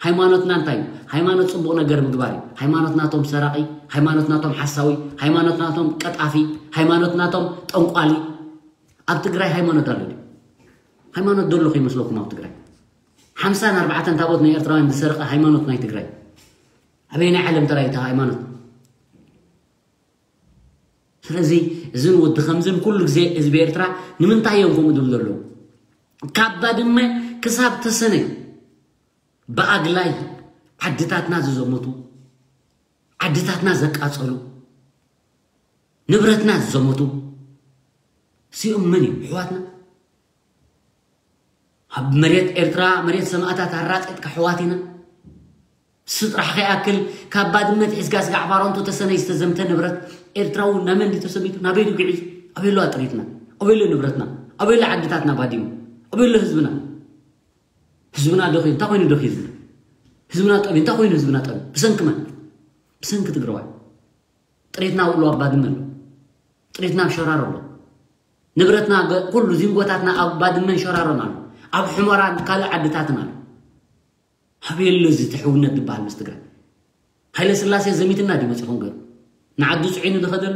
ሃይማኖትና እንታይ እዩ ሃይማኖት ፅቡቕ ነገር ምግባር እዩ ሃይማኖት ናቶም ሰራቒ ሃይማኖት ናቶም ሓሳዊ ሃይማኖት ናቶም ቀጣፊ ሃይማኖት ናቶም ጠንቋሊ ኣብ ትግራይ ሃይማኖት ኣሎ ድዩ ሃይማኖት ዘሎ ከይመስለኩም ኣብ ትግራይ ሓምሳን ኣርባዕተን ታቦት ናይ ኤርትራውያን ዝሰረቐ ሃይማኖት ናይ ትግራይ ኣበይ ናይ ዓለም ተራይ እቲ ሃይማኖት ስለዚ እዝን ወዲ ከምዝን ኩሉ ግዜ ህዝቢ ኤርትራ ንምንታይ እዮም ከምኡ ድብል ዘለዉ ካብ ባድመ ክሳብ ተሰነይ ብኣግላይ ዓድታትና ዝዘመቱ ዓድታትና ዘቃጸሉ ንብረትና ዝዘመቱ እዚኦም መን እዮም ኣሕዋትና ኣብ መሬት ኤርትራ መሬት ሰማእታት ኣራጢጥካ ኣሕዋት ኢና ስጥራሕ ከይኣክል ካብ ባድመ ትሒዝካ ስጋዕ ባሮንቱ ተሰነይ ዝተዘምተ ንብረት ኤርትራዊ ናመን ድዩ ተሰሚቱ ናበይ ድዩ ግዒዙ ኣበይ ኣሎ ኣጥሪትና ኣበይ ኣሎ ንብረትና ኣበይ ኣሎ ዓድታትና ባዲሙ ኣበይ ኣሎ ህዝብና ህዝብና ደኺ እንታይ ኮይኑ ደኺ ህዝብና ህዝብና ጠቢ እንታይ ኮይኑ ህዝብና ጠቢ ብሰንኪ መን ብሰንኪ ትግራዋይ ጥሪትና ውዕሉ ኣብ ባድመ ኣሎ። ጥሪትና ኣብ ሸራሮ ኣሎ። ንብረትና ገ- ኩሉ ዚንጎታትና ኣብ ባድመን ሸራሮን ኣሎ። ኣብ ሕመራን ካልእ ዓድታትን ኣሎ። ኣበይ ኣሎ እዚ ትሕውነት ዝበሃል ምስ ትግራይ? ሃይለ ስላሴ ዘሚትና ድዩ መፂኹም ገሩ? ንዓዱ ፅዒኑ ዝኸደሉ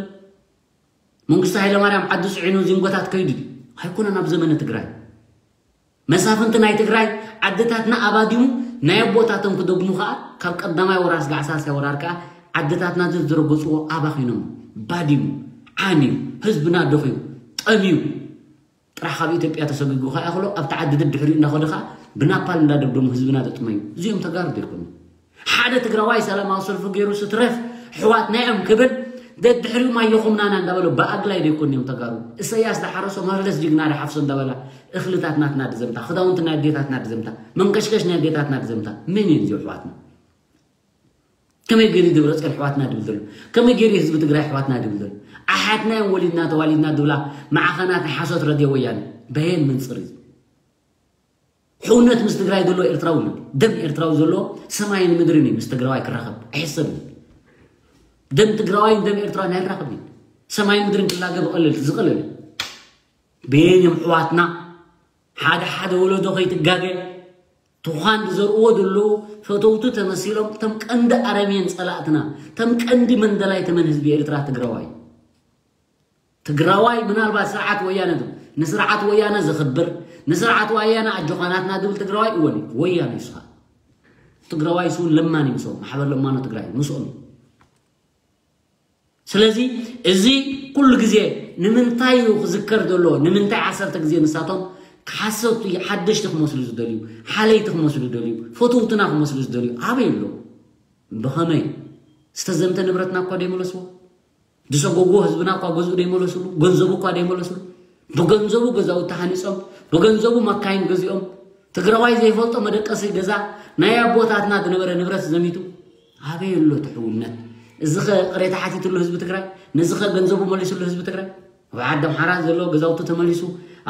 መንግስቲ ሃይለ ማርያም ዓዱ ፅዒኑ ዚንጎታት ከይዱ ድዩ? ኣይኮነን። ኣብ ዘመነ ትግራይ መሳፍንቲ ናይ ትግራይ ዓድታትና ኣባዲሙ ናይ ኣቦታቶም ክደግሙ ከዓ ካብ ቀዳማይ ወራር ስጋዕ ሳልሳይ ወራር ከዓ ዓድታትና ዝዝረገፅዎ ኣባኺኖም፣ ባዲሙ፣ ዓንዩ፣ ህዝብና ደኽዩ፣ ጠምዩ፣ ጥራሕ ካብ ኢትዮጵያ ተሰጒጉ ከኣ ከሎ ኣብቲ ዓዲ ደድሕሪኡ እንዳኸደ ከኣ ብናፓል እንዳደብደሙ ህዝብና ዘጥመዩ። እዚኦም ተጋሩ ዘይኮኑ። ሓደ ትግራዋይ ሰላማዊ ሰልፊ ገይሩ ስትረፍ ሕዋትና እዮም ክብል ደድሕሪኡ ማየኹምናና እንዳበለ ብኣግላይ ዘይኮኑ እዮም ተጋሩ። እሰያስ ዝሓረሶ መለስ ጅግና ዝሓፍሶ እንዳበላ እኽልታት ናትና ድዘምታ፣ ክዳውንቲ ናይ ኣዴታትና ድዘምታ፣ መንቀሽቀሽ ናይ ኣዴታትና ድዘምታ። መን እዮም እዚኦም ሕዋትና? ከመይ ገይሩ ደብረፅዮን ኣሕዋትና ድብል ዘሎ? ከመይ ገይሩ ህዝቢ ትግራይ ኣሕዋትና ድብል ዘሎ? ኣሓትና እዮም ወሊድና ተዋሊድና ድብላ ማዕኸናት ናይ ሓሶት ረድዮ ወያነ። በየን መንፅር እዩ? ሕውነት ምስ ትግራይ ዘሎ ኤርትራዊ ኣሎ። ደም ኤርትራዊ ዘሎ ሰማይን ምድርን እዩ ምስ ትግራዋይ ክራኸብ። ኣይሕሰብን። ደም ትግራዋይን ደም ኤርትራን ኣይራኸብን። ሰማይን ምድርን ክላገብ ቀለል ዝቐለል እዩ። በየን እዮም ኣሕዋትና ሓደ ሓደ ወለዶ ከይትጋገ ትዃን ዝዘርእዎ ዘለዉ ፈተውቱ ተመሲሎም ተም ቀንዲ ኣረሜን ጸላእትና ተም ቀንዲ መንደላይ ተመን ህዝቢ ኤርትራ ትግራዋይ ትግራዋይ ምናልባት ስርዓት ወያነ ዶ ንስርዓት ወያነ ዝኽብር ንስርዓት ወያነ ኣጆኻናትና ዝብል ትግራዋይ እወን ወያነ ይስኻ ትግራዋይ ስውን ለማን ይምሶም ማሕበር ለማኖ ትግራይ ምስኦም እዩ ስለዚ እዚ ኩሉ ግዜ ንምንታይ እዩ ክዝከር ዘሎ ንምንታይ ዓሰርተ ግዜ ንሳቶም ሓሰብቲ ሓደሽቲ ክመስሉ ዝደልዩ ሓለይቲ ክመስሉ ዝደልዩ ፈትውትና ክመስሉ ዝደልዩ ኣበይ ኣሎ ብኸመይ ዝተዘምተ ንብረትና እኳ ደይመለስዎ ዝሰጎግዎ ህዝብና እኳ ገዝኡ ደይመለስሉ ገንዘቡ እኳ ደይመለስሉ ብገንዘቡ ገዛውቲ ሃኒፆም ብገንዘቡ መካይን ገዚኦም ትግራዋይ ዘይፈልጦ መደቀሲ ገዛ ናይ ኣቦታትና ዝነበረ ንብረት ዘሚቱ ኣበይ ኣሎ ትሕውነት? እዚ ኸ ቅሬታ ሓቲትሉ ህዝቢ ትግራይ? ነዚ ኸ ገንዘቡ መሊስሉ ህዝቢ ትግራይ? ኣብ ዓዲ ኣምሓራ ዘሎ ገዛውቱ ተመሊሱ፣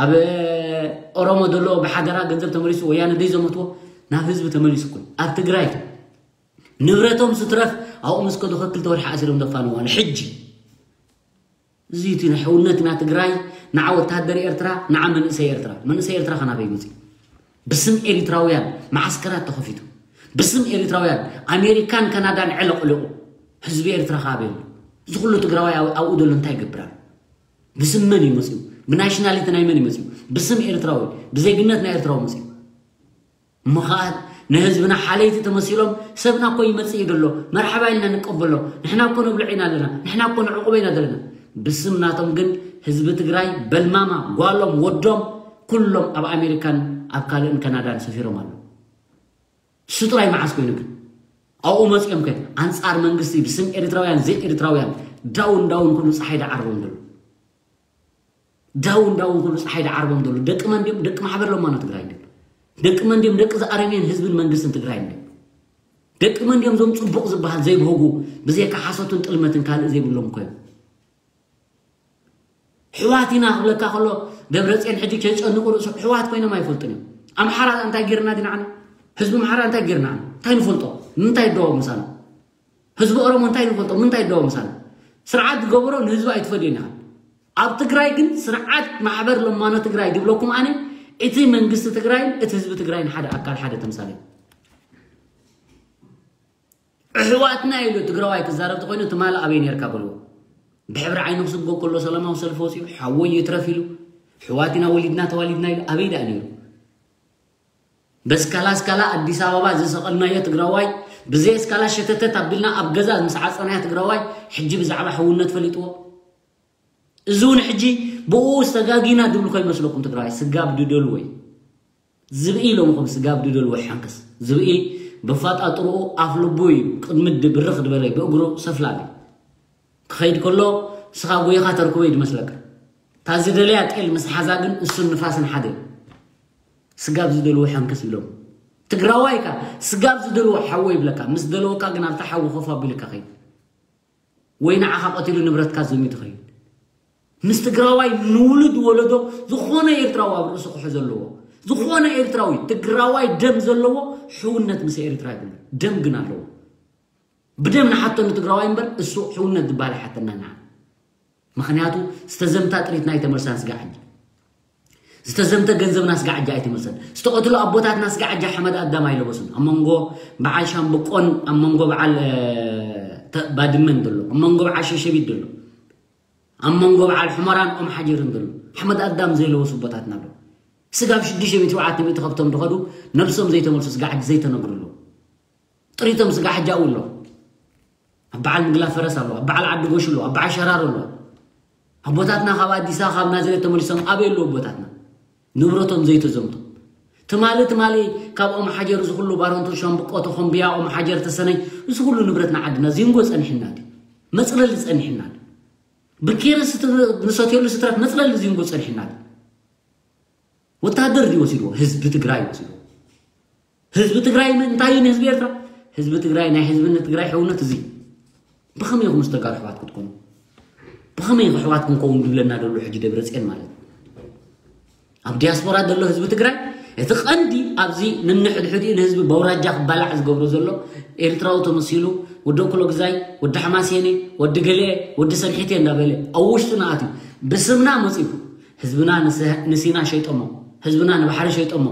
ኣብ ኦሮሞ ዘሎ ብሓደራ ገንዘብ ተመሊሱ፣ ወያነ ደይ ዘመትዎ ናብ ህዝቢ ተመሊሱ እኮ ኣብ ትግራይ ንብረቶም ስትረፍ ኣብኡ ምስ ከዱ ክልተ ወርሒ ኣሲሮም ዘፋንዋ ንሕጂ እዚ እቲ ናይ ሕውነትና ትግራይ ንዓ ወታደር ኤርትራ ንዓ መንእሰይ ኤርትራ መንእሰይ ኤርትራ ከናበይ መፅዩ ብስም ኤሪትራውያን መዓስከራት ተኸፊቱ ብስም ኤሪትራውያን ኣሜሪካን ካናዳን ዕለቕልቑ ህዝቢ ኤርትራ ካበይ ኣሎ እዚ ኩሉ ትግራዋይ ኣብኡ ዘሎ እንታይ ይገብር ኣሎ ብስም መን እዩ መፅዩ ብናሽናሊቲ ናይ መን እዩ መፅዩ ብስም ኤርትራዊ ብዜግነት ናይ ኤርትራዊ መፅዩ እሞ ኸዓ ንህዝብና ሓለይቲ ተመሲሎም ሰብና እኮ ይመፅእ እዩ ዘሎ መርሓባ ኢልና ንቀበሎ ንሕና እኮ ነብልዕ ኢና ኣለና ንሕና እኮ ንዕቁበ ኢና ዘለና ብስም ናቶም ግን ህዝቢ ትግራይ በልማማ ጓሎም ወዶም ኩሎም ኣብ ኣሜሪካን ኣብ ካልእን ካናዳን ሰፊሮም ኣለዉ እሱ ጥራይ መዓስ ኮይኑ ግን ኣብኡ መፅኦም ከ ኣንፃር መንግስቲ ብስም ኤርትራውያን ዘይ ኤርትራውያን ዳውን ዳውን ኩሉ ፀሓይ ዳዓርቦም ዘሎ ዳውን ዳውን ኩሉ ፀሓይ ዳዓርቦም ዘሎ ደቂ መን ድዮም ደቂ ማሕበር ለማኖ ትግራይ ድዮም ደቂ መን ድዮም ደቂ ዝኣረሜን ህዝብን መንግስትን ትግራይ ድዮም ደቂ መን ድዮም ዞም ፅቡቕ ዝበሃል ዘይብህጉ ብዘይካ ሓሶትን ጥልመትን ካልእ ዘይብሎም እኮ እዮም ሕዋት ኢና ክብለካ ከሎ ደብረፅዮን ሕጂ ከይጨንቁ ርእሱ ሕዋት ኮይኖም ኣይፈልጡን እዮም ኣምሓራ እንታይ ጌርና ዲና ዓና ህዝቢ ኣምሓራ እንታይ ጌርና ዓና እንታይ ንፈልጦ ንምንታይ ይደዋወ ምሳና ህዝቢ ኦሮሞ እንታይ ንፈልጦ ምንታይ ይደዋወ ምሳና ስርዓት ዝገበሮ ንህዝቢ ኣይትፈድዮን ኢኻ ኣብ ትግራይ ግን ስርዓት ማሕበር ለማኖ ትግራይ ዝብለኩም ኣነ እቲ መንግስቲ ትግራይን እቲ ህዝቢ ትግራይን ሓደ ኣካል ሓደ ተምሳሌ ኣሕዋትና ኢሉ ትግራዋይ ክዛረብ ተኮይኑ ትማሊ ኣበይ ነርካ በልዎ ብሕብሪ ዓይኑ ክስጎ ከሎ ሰላማዊ ሰልፊ ወፂኡ ሓወይ ይትረፍ ኢሉ ኣሕዋትና ወሊድና ተዋሊድና ኢሉ ኣበይ ደኣ ነይሩ በስካላ ስካላ ኣዲስ ኣበባ ዝሰቐልናዮ ትግራዋይ ብዘይ እስካላ ሸተተት ኣቢልና ኣብ ገዛ ምስ ዓፀናዮ ትግራዋይ ሕጂ ብዛዕባ ሕውነት ፈሊጥዎ እዚ እውን ሕጂ ብኡ ዝተጋጊና ድብሉ ከይመስለኩም ትግራዋይ ስጋብ ድደልዎ እዩ ዝብኢ ኢሎምኹም ስጋብ ድደልዎ ይሓንክስ ዝብኢ ብፋጣጥርኡ ኣፍ ልቡ እዩ ቅድሚ ድብርኽ ድበለ ብእግሩ ሰፍላል እዩ ክኸይድ ከሎ ስኻ ጎይኻ ተርክቦ እዩ ድመስለካ እታ ዝደለያ ጤል ምስ ሓዛ ግን እሱን ንፋስን ሓደ እዩ ስጋብ ዝደልዎ ሓንክስ ኢሎም ትግራዋይ ካ ስጋብ ዝደልዎ ሓዎ ይብለካ ምስ ደለወካ ግን ኣብታ ሓዊ ኮፍ ኣቢልካ ኸይድ ወይ ንዓኻ ቀቲሉ ንብረትካ ዘሚቱ ኸይድ ምስ ትግራዋይ ንውሉድ ወለዶ ዝኾነ ኤርትራዊ ኣብ ርእሱ ክሑ ዘለዎ ዝኾነ ኤርትራዊ ትግራዋይ ደም ዘለዎ ሕውነት ምስ ኤርትራ ይብሉ ደም ግን ኣለዎ ብደም ንሓቶ ንትግራዋይ እምበር እሱ ሕውነት ዝበሃል ኣይሓተና ንዓ። ምኽንያቱ ዝተዘምታ ጥሪትና ኣይተመልሳን ስጋዕ ሕጂ። ዝተዘምተ ገንዘብና ስጋዕ ሕጂ ኣይተመልሰን። ዝተቐትሉ ኣቦታትና ስጋዕ ሕጂ ሓመድ ኣዳም ኣይለበሱን። ኣብ መንጎ በዓል ሻምብቆን ኣብ መንጎ በዓል ባድመን ዘሎ፣ ኣብ መንጎ በዓል ሸሸቢት ዘሎ፣ ኣብ መንጎ በዓል ሑመራን ኦም ሓጀርን ዘሎ ሓመድ ኣዳም ዘይለበሱ ኣቦታትና ኣሎ። ስጋብ ሽዱሽተ ሚእቲ ሸውዓተ ሚእቲ ከብቶም ድኸዱ ነብሶም ዘይተመልሱ ስጋዕ ሕጂ ዘይተነግሩ ኣሎ። ጥሪቶም ስጋዕ ሕጂ ኣብኡ ኣሎ። ኣብ በዓል ምግላ ፈረስ ኣሎ፣ ኣብ በዓል ዓዲ ጎሽ ኣሎ፣ ኣብ በዓል ሸራሮ ኣሎ። ኣቦታትና ካብ ኣዲስ ኣበባ ካብ ናዝሬት ተመሊሶም ኣበይ ኣለዉ ኣቦታትና? ንብረቶም ዘይተዘምቶም። ትማሊ ትማሊ ካብ ኦም ሓጀር እዚ ኩሉ ባረንቱ ሻምብቆ ተኾምብያ ኦም ሓጀር ተሰነይ እዚ ኩሉ ንብረትና ዓድና ዚንጎ ጸኒሕና ድዩ? መጽለሊ ጸኒሕና ድዩ? ብኬርስ ንሰትየሉ ስትራት መጽለሊ ዚንጎ ጸኒሕና ድዩ? ወታደር ድዩ ወሲድዎ? ህዝቢ ትግራይ ወሲድዎ። ህዝቢ ትግራይ እንታይ እዩ ንህዝቢ ኤርትራ? ህዝቢ ትግራይ ናይ ህዝብነት ትግራይ ሕውነት እዚ ብኸመይ ኢኹም ዝተጋሩ ኣሕዋት ክትኮኑ? ብኸመይ ኢኹ ኣሕዋት ክንከውን ዝብለና ዘሎ ሕጂ ደብረፅዮን ማለት እዩ። ኣብ ዲያስፖራ ዘሎ ህዝቢ ትግራይ እቲ ቀንዲ ኣብዚ ንንሕድሕዲኡ ንህዝቢ በውራጃ ክባላዕ ዝገብሮ ዘሎ ኤርትራዊ ተመሲሉ ወዲ ኩሎ ግዛይ ወዲ ሓማሴኔ ወዲ ገለኤ ወዲ ሰንሒቴ እንዳበለ ኣብ ውሽጡ ንኣትዩ ብስምና መፂኡ ህዝብና ንሲና ሸይጦሞ ህዝብና ንባሕሪ ሸይጦሞ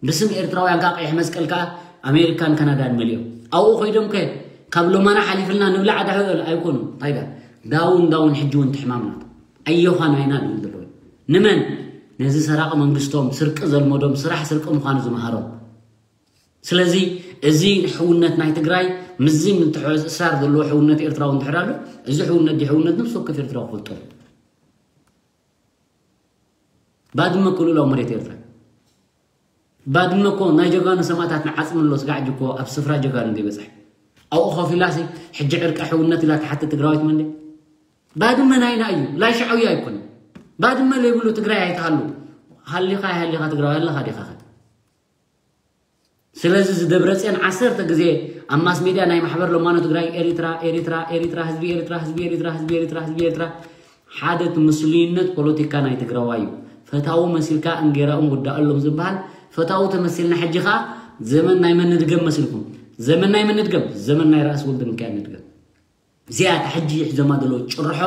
ብስም ኤርትራውያን ከዓ ቀይሕ መስቀል ከዓ ኣሜሪካን ካናዳን መሊኦም ኣብኡ ኮይዶም ከ ካብ ሎማና ሓሊፍልና ንብላዕ ዳሕበል ኣይኮኑ እንታይ ዳ ዳውን ዳውን ሕጂ እውን ትሕማምና ኣዮኻ ናይና ድብል ዘለዎ ንመን ነዚ ሰራቂ መንግስቶም ስርቂ ዘልመዶም ስራሕ ስርቂ ምዃኑ ዝመሃሮም ስለዚ እዚ ሕውነት ናይ ትግራይ ምስዚ ምትሕእሳር ዘለዎ ሕውነት ኤርትራዊ እንድሕር ኣሎ እዚ ሕውነት ዲ ሕውነት ነብሲ ወከፍ ኤርትራዊ ክፈልጦ ባድመ እኮ ልኡላዊ መሬት ኤርትራ ባድመ እኮ ናይ ጀጋኑ ሰማእታትና ዓፅሚ ኣሎ ስጋዕ ሕጂ እኮ ኣብ ስፍራ ጀጋኑ ዘይበፅሐ ኣብኡ ኮፍ ኢላሲ ሕጂ ዕርቂ ሕውነት ኢላ ትሓትት ትግራዊት መንደ ባድመ ናይና እዩ ላይ ሻዕውያ ኣይኮነ ባድመ ለይብሉ ትግራይ ኣይትሃሉ ሃሊኻ ኣይሃሊኻ ትግራዊ ኣለኻ ዲኻ ስለዚ እዚ ደብረፅዮን ዓሰርተ ግዜ ኣብ ማስ ሜድያ ናይ ማሕበር ለማኖ ትግራይ ኤሪትራ ኤሪትራ ኤሪትራ ህዝቢ ኤሪትራ ህዝቢ ኤሪትራ ህዝቢ ኤሪትራ ህዝቢ ኤሪትራ ሓደ እቲ ምስሉይነት ፖለቲካ ናይ ትግራዋይ እዩ። ፈታዊ መሲልካ እንጌራኡ ምውዳእሎም ዝበሃል ፈታዊ ተመሲልና ሕጂ ከዓ ዘመን ናይ መን ንድገም መሲልኩም? ዘመን ናይ መን ንድገም? ዘመን ናይ ራእሲ ወልደ ሚካኤል ንድገም። እዚኣ እታ ሕጂ ሒዞማ ዘለዉ ጭርሖ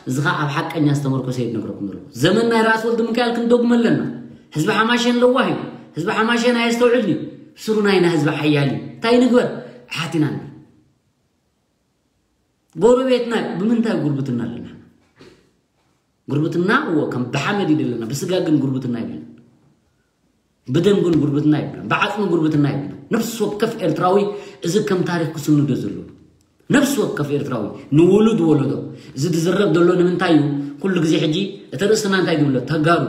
እዚ ከዓ ኣብ ሓቀኛ ዝተመርኮሰ እየ ዝነግረኩም ዘለኹ። ዘመን ናይ ራእሲ ወልደ ሚካኤል ክንደግሞ ኣለና። ህዝቢ ሓማሸን ለዋህ እዩ። ህዝቢ ሓማሸን ኣየስተውዕልን እዩ። ስሩ ናይና ህዝቢ ሓያል እዩ። እንታይ ንግበር? ሓቲና ንብል። ጎረቤትና እዩ። ብምንታይ ጉርብትና ኣለና? ጉርብትና እዎ ከም ብሓመድ እዩ ዘለና። ብስጋ ግን ጉርብትና የብልና። ብደም ግን ጉርብትና የብልና። ብዓፅሚ ጉርብትና የብልና። ነፍሲ ወከፍ ኤርትራዊ እዚ ከም ታሪክ ክስንዶ ዘሎ ነፍሲ ወከፍ ኤርትራዊ ንውሉድ ወለዶ እዚ ዝዝረብ ዘሎ ንምንታይ እዩ ኩሉ ግዜ ሕጂ እቲ ርእስና እንታይ ድብሎ ተጋሩ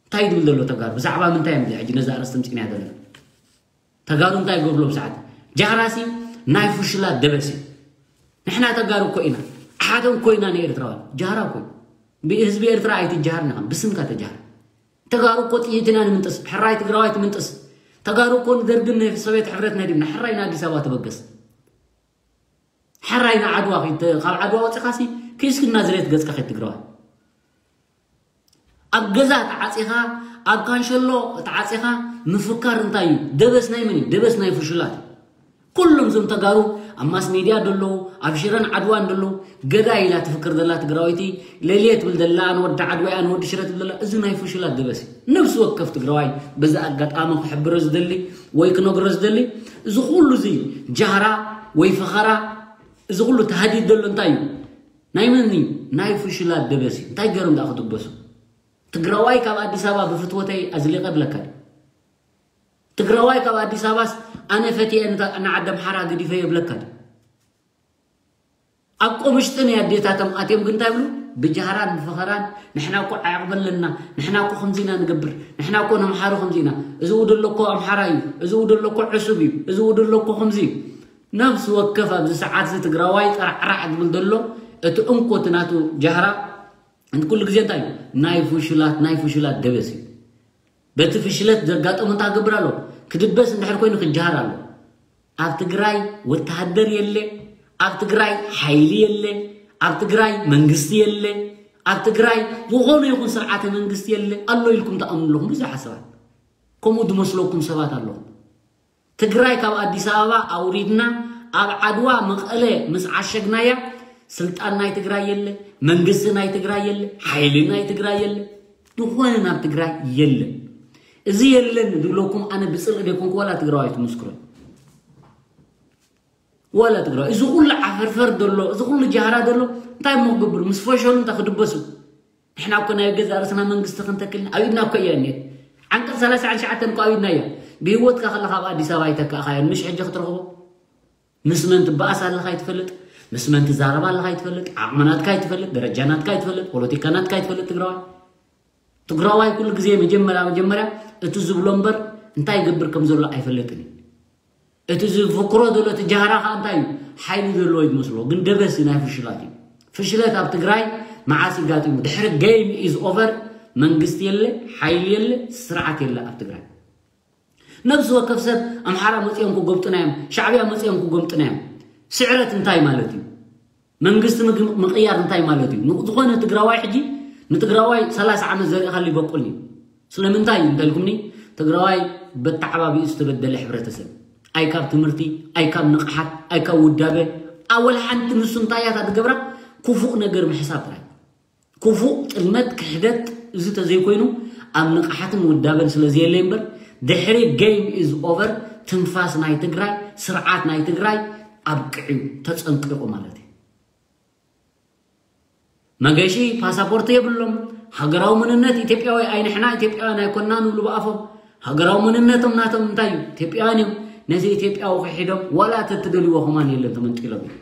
እንታይ ድብል ዘሎ ተጋሩ ብዛዕባ ምንታይ እዮም ሕጂ ነዚ ኣርእስቲ ምፅንያ ዘለና ተጋሩ እንታይ ገብርሎም ሰዓት ጃህራሲ ናይ ፍሽላ ደበሲ ንሕና ተጋሩ እኮ ኢና ኣሓቶም እኮ ኢና ንኤርትራውያን ጃህራ እኮ ብህዝቢ ኤርትራ ኣይትጃሃር ንኸም ብስምካ ተጃሃር ተጋሩ እኮ ጥይት ኢና ንምንጥስ ሕራይ ትግራዋይ ትምንጥስ ተጋሩ እኮ ንደርግን ንሶቤት ሕብረት ነዲብና ሕራይ ንኣዲስ ኣበባ ተበገስ ሕራይ ንዓድዋ ካብ ዓድዋ ወፂኻሲ ኪስክና ዝሬት ገፅካ ከይትግራዋይ ኣብ ገዛ ተዓፂኻ ኣብ ካንሸሎ ተዓፂኻ ምፍካር እንታይ እዩ ደበስ ናይ መን እዩ ደበስ ናይ ፍሹላት ኩሎም ዞም ተጋሩ ኣብ ማስ ሜድያ ደለዉ ኣብ ሽረን ዓድዋን ደለዉ ገዳይ ኢላ ትፍክር ዘላ ትግራወይቲ ለልየ ትብል ዘላ ንወዲ ዓድዋ እያ ንወዲ ሽረ ትብል ዘላ እዚ ናይ ፍሹላት ደበስ እዩ ነብሲ ወከፍ ትግራዋይ በዚ ኣጋጣሚ ክሕብሮ ዝደሊ ወይ ክነግሮ ዝደሊ እዚ ኩሉ እዚ ጃህራ ወይ ፈኸራ እዚ ኩሉ ተሃዲድ ዘሎ እንታይ እዩ ናይ መን እዩ ናይ ፍሹላት ደበስ እዩ እንታይ ገይሮም ደኣ ክድበሱ ትግራዋይ ካብ ኣዲስ ኣበባ ብፍትወተይ ኣዝሊቐ ብለካ ድዩ ትግራዋይ ካብ ኣዲስ ኣበባስ ኣነ ፈትየ ንዓዲ ኣምሓራ ገዲፈ የብለካ ድዩ ኣብ ቆምሽጢ ናይ ኣዴታቶም ኣትዮም ግን እንታይ ብሉ ብጃህራን ብፈኸራን ንሕና እኮ ዓቕሚ ኣለና ንሕና እኮ ከምዚና ንገብር ንሕና እኮ ነምሓሩ ከምዚና እዚኡ ደሎ እኮ ኣምሓራ እዩ እዚኡ ደሎ እኮ ዕሱብ እዩ እዚኡ ደሎ እኮ ከምዚ እዩ ነብሲ ወከፍ ኣብዚ ሰዓት እዚ ትግራዋይ ጠራዕራዕ ዝብል ዘሎ እቲ እንኮ እቲ ናቱ ጃህራ ኩሉ ግዜ እንታይ እዩ ናይ ፍሹላት ናይ ፍሹላት ደበስ እዩ በቲ ፍሽለት ዘጋጠሙ እንታይ ክገብር ኣሎ ክድበስ እንድሕር ኮይኑ ክጀሃር ኣሎ ኣብ ትግራይ ወተሃደር የለ ኣብ ትግራይ ሓይሊ የለ ኣብ ትግራይ መንግስቲ የለ ኣብ ትግራይ ዝኾነ ይኹን ስርዓተ መንግስቲ የለ ኣሎ ኢልኩም ትኣምኑ ኣለኹም ብዙሕ ሰባት ከምኡ ዝመስለኩም ሰባት ኣለኹም ትግራይ ካብ ኣዲስ ኣበባ ኣውሪድና ኣብ ዓድዋ መቐለ ምስ ዓሸግናያ ስልጣን ናይ ትግራይ የለ፣ መንግስቲ ናይ ትግራይ የለ፣ ሓይሊ ናይ ትግራይ የለ፣ ዝኾነ ናብ ትግራይ የለ። እዚ የለን ዝብለኩም ኣነ ብፅልኢ ደይኮንኩ ዋላ ትግራዋይ ትምስክሮ። ዋላ ትግራዋይ እዚ ኩሉ ዓፈርፈር ዘሎ፣ እዚ ኩሉ ጃህራ ዘሎ እንታይ እሞ ክገብር? ምስ ፈሸሉ እንታይ ክድበሱ? ንሕና እኮ ናይ ገዛ ርእስና መንግስቲ ክንተክል ኣብ ኢድና እኮ እያ እኒሄት። ዓንቀፅ ሰላሳ ሸዓተ እኮ ኣብ ኢድና እያ። ብህይወትካ ከለካ ኣብ ኣዲስ ኣበባ ኣይተካእካዮን፣ ምሽ ሕጂ ክትረኽቦ? ምስ መን ትበኣስ ኣለካ ኣይትፈልጥ፣ ምስ መን ትዛረብ ኣለካ ኣይትፈልጥ፣ ዓቕሚ ናትካ ኣይትፈልጥ፣ ደረጃ ናትካ ኣይትፈልጥ፣ ፖለቲካ ናትካ ኣይትፈልጥ። ትግራዋይ ትግራዋይ ኩሉ ግዜ መጀመርያ መጀመርያ እቲ ዝብሎ እምበር እንታይ ይገብር ከም ዘሎ ኣይፈልጥን እዩ። እቲ ዝፍክሮ ዘሎ እቲ ጃህራ ከዓ እንታይ እዩ? ሓይሊ ዘለዎ እዩ ዝመስሎ፣ ግን ደበስ እዩ፣ ናይ ፍሽላት እዩ። ፍሽለት ኣብ ትግራይ መዓስ ይጋጢሙ? ድሕሪ game is over መንግስቲ የለ፣ ሓይሊ የለ፣ ስርዓት የለ ኣብ ትግራይ። ነብሲ ወከፍ ሰብ ኣምሓራ መፂኦም ክጎብጡና እዮም፣ ሻዕብያ መፂኦም ክጎብጡና እዮም። ስዕረት እንታይ ማለት እዩ? መንግስቲ ምግብ ምቕያር እንታይ ማለት እዩ? ንዝኾነ ትግራዋይ ሕጂ ንትግራዋይ ሰላሳ ዓመት ዘሪእካሉ ይበቁል እዩ። ስለምንታይ እዩ እንተልኩምኒ፣ ትግራዋይ በተዓባቢኡ ዝተበደለ ሕብረተሰብ፣ ኣይ ካብ ትምህርቲ፣ ኣይ ካብ ንቕሓት፣ ኣይ ካብ ውዳበ፣ ኣወል ሓንቲ ንሱ እንታይ እያ እታ ትገብራ? ክፉእ ነገር ምሕሳብ ጥራይ። ክፉእ ጥልመት፣ ክሕደት፣ እዚ ተዘይኮይኑ ኣብ ንቕሓትን ውዳበን ስለ ዘየለ እምበር፣ ድሕሪ game is over ትንፋስ ናይ ትግራይ፣ ስርዓት ናይ ትግራይ ኣብቅዕዩ፣ ተፀንቂቑ ማለት እዩ። መገሺ ፓሳፖርት የብሎም፣ ሃገራዊ መንነት ኢትዮጵያዊ ኣይ ንሕና ኢትዮጵያውያን ኣይኮንና ንብሉ ብኣፎም። ሃገራዊ መንነቶም ናቶም እንታይ እዩ? ኢትዮጵያውያን እዮም። ነዚ ኢትዮጵያዊ ክሒዶም ዋላ ተትደልይዎ ከማን የለን፣ ተመንጢሎም እዮም።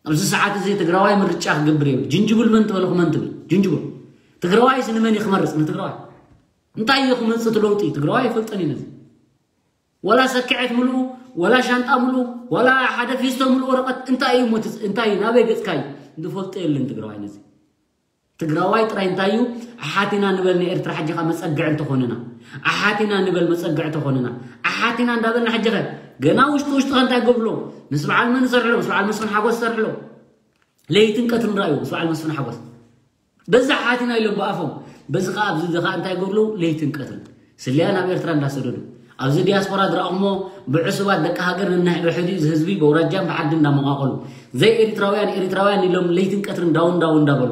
ኣብዚ ሰዓት እዚ ትግራዋይ ምርጫ ክገብር የብሉ። ጅንጅብል መን ትበልኹ መን ትብል? ጅንጅብል። ትግራዋይስ ንመን እዩ ክመርፅ? ንትግራዋይ። እንታይ እዩ ክመፅእ እቲ ለውጢ? ትግራዋይ ኣይፈልጠን እዩ ነዚ። ዋላ ሰክዐት ምልኡ፣ ዋላ ሻንጣ ምልኡ፣ ዋላ ሓደ ፊስቶ ምልኡ ወረቐት እንታይ እዩ እሞ እቲ-፣ እንታይ እዩ? ናበይ ገፅካ እዩ? ዝፈልጦ የለን ትግራዋይ ነዚ። ትግራዋይ ጥራይ እንታይ እዩ? ኣሓቲና ንበል ንኤርትራ ሕጂ ኸ መፀግዒ እንተኾንና። ኣሓቲና ንበል መፀግዒ ተኾንና። ኣሓቲና እንዳበልና ሕጂ ኸ ገና ውሽጢ ውሽጢ ኸ እንታይ ገብሎ? ምስ በዓል መን ሰርሕሎ? ምስ በዓል መስፍን ሓጎስ ሰርሕሎ። ለይትን ቀትርን ራእዩ ምስ በዓል መስፍን ሓጎስ። በዚ ሓቲና ኢሎም ብኣፎም። በዚ ኸዓ ኣብዚ እዚ ኸዓ እንታይ ገብሎ? ለይትን ቀትርን። ስለያ ናብ ኤርትራ እንዳሰደዱ። ኣብዚ ዲያስፖራ ዝረኣኹሞ ብዕሱባት ደቂ ሃገር ነንሕድሕዱ እዚ ህዝቢ በውራጃን ብዓዲ እንዳመቓቐሉ። ዘይ ኤሪትራውያን ኤሪትራውያን ኢሎም ለይትን ቀትርን ዳውን ዳውን እንዳበሉ።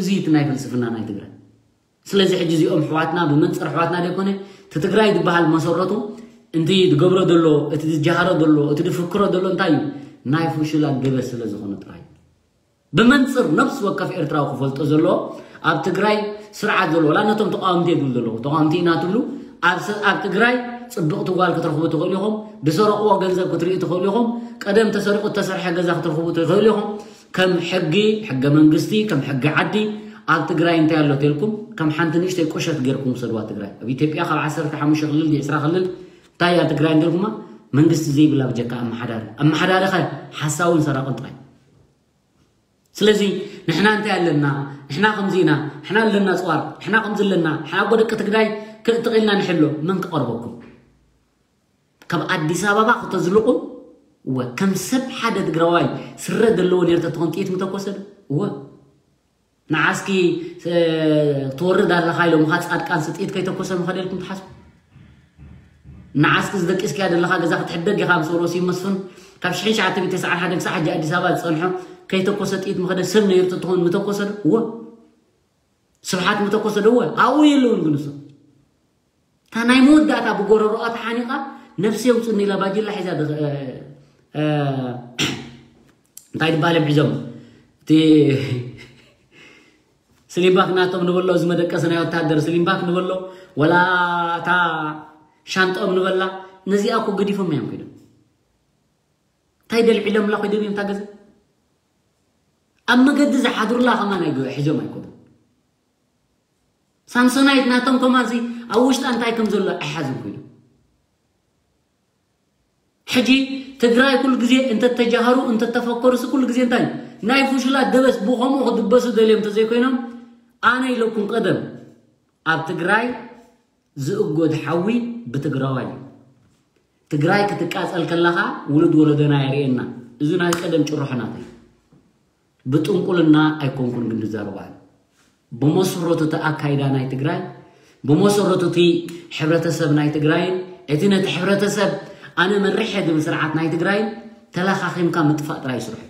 እዚ እቲ ናይ ፍልስፍና ናይ ትግራይ። ስለዚ ሕጂ እዚኦም ኣሕዋትና ብመንፅር ኣሕዋትና ዘይኮነ፣ እቲ ትግራይ ዝበሃል መሰረቱ፣ እንቲ ዝገብሮ ዘሎ፣ እቲ ዝጀሃሮ ዘሎ፣ እቲ ዝፍክሮ ዘሎ እንታይ እዩ? ናይ ፍሹላት ገበስ ስለ ዝኾነ ጥራይ እዩ። ብመንፅር ነብሲ ወከፍ ኤርትራዊ ክፈልጦ ዘለዎ፣ ኣብ ትግራይ ስርዓት ዘሎ፣ ዋላ ነቶም ተቃወምቲ እየ ዝብል ዘለኹ፣ ተቃወምቲ ኢና ትብሉ፣ ኣብ ስ-፣ ኣብ ትግራይ ፅብቕቲ ጓል ክትረኽቡ ትኽእሉ ኢኹም፣ ዝሰረቕዎ ገንዘብ ክትርእዩ ትኽእሉ ኢኹም፣ ቀደም ተሰሪቑ እተሰርሐ ገዛ ክትረኽቡ ትኽእሉ ኢኹም። ከም ሕጊ፣ ሕገ መንግስቲ፣ ከም ሕጊ ዓዲ፣ ኣብ ትግራይ እንታይ ኣሎ ተልኩም፣ ከም ሓንቲ ንእሽተይ ቁሸት ጌርኩም ውሰድዋ ትግራይ። ኣብ ኢትዮጵያ ካብ ዓሰርተ ሓሙሽተ ክልል፣ ዕስራ ክልል፣ እንታይ እያ ትግራይ እንተልኩማ፣ መንግስቲ ዘይብላ ብጀካ ኣመሓዳሪ። ኣመሓዳሪ ኸ ሓሳውን ሰራቕን ጥራይ። ስለዚ ንሕና እንታይ ኣለና፣ ንሕና ከምዚ ኢና፣ ንሕና ኣለና ፅዋር፣ ንሕና ከምዚ ኣለና፣ ንሕና እኮ ደቂ ትግራይ ክእትቕ ኢልና ንሕሎ፣ መን ክቐርበኩም? ካብ ኣዲስ ኣበባ ክተዝልቑ፣ እወ፣ ከም ሰብ ሓደ ትግራዋይ ስረ ዘለዎ ነይሩ ተትኾን ጥይት ምተኮሰ ዶ? እወ። ንዓስኪ፣ እ፣ ትወርድ ኣለኻ ኢሎምኻ ጻድቃንስ ጥይት ከይተኮሰ ምኸደ ኢልኩም ትሓስቡ? ንዓስኪ ዝደቂስካያ ዘለኻ ገዛ ክትሕደግ ኢኻ ምስ ወሮ ስዩም መስፍን ካብ ሽሕን ትሽዓተ ሚእትን ተስዓን ሓደን ክሳዕ ሕጂ ኣዲስ ኣበባ ዝጸንሖ ከይተኮሰ ጥይት ምኸደ ሰብ ነይሩ ተትኾን ምተኮሰ ዶ? እወ። ስብሓት ምተኮሰ ዶ? እወ። ኣብኡ የለውን ግን እሱ። እታ ናይ መወዳእታ ብጎረሮኣ ተሓኒቓ ነብሲ የውፅኒ ኢላ ባጅላ ሒዛ ድ-፣ እ፣ እ፣ እንታይ ዝበሃል እዮም ሒዞም? እቲ ስሊምባክ ናቶም ንበሎ፣ እዚ መደቀሲ ናይ ወታደር ስሊምባክ ንበሎ፣ ወላ እታ ሻንጣኦም ንበላ፣ ነዚኣ እኮ ገዲፎም እዮም ከይዶም። እንታይ ደልዒሎምላ ኮይዶም እዮም እታ ገዛ? ኣብ መገዲ ዝሓድሩላ ከማን ኣይገ-፣ ሒዞም ኣይኮኑን። ሳምሶናይት ናቶም ከማን ሲ ኣብ ውሽጣ እንታይ ከም ዘሎ ኣይሓዝን ኮይኑ። ሕጂ ትግራይ ኩሉ ግዜ እንተተጃሃሩ፣ እንተተፈከሩ ሲ ኩሉ ግዜ እንታይ ናይ ፍሹላት ደበስ ብኸምኡ ክድበሱ ደልዮም እንተዘይኮይኖም፣ ኣነ ኢለኩም ቀደም ኣብ ትግራይ ዝእጎድ ሓዊ ብትግራዋይ እዩ። ትግራይ ክትቃጸል ከላኻ ውሉድ ወለዶና የርእየና። እዚ ናይ ቀደም ጭርሖ ናተይ። ብጥንቁልና ኣይኮንኩን ግን ዝዛረቡ ኣነ። ብመሰረቱ እቲ ኣካይዳ ናይ ትግራይ፣ ብመሰረቱ እቲ ሕብረተሰብ ናይ ትግራይን፣ እቲ ነቲ ሕብረተሰብ ኣነ መሪሐ ዝብል ስርዓት ናይ ትግራይን፣ ተለኻኺምካ ምጥፋእ ጥራይ ይስርሑ።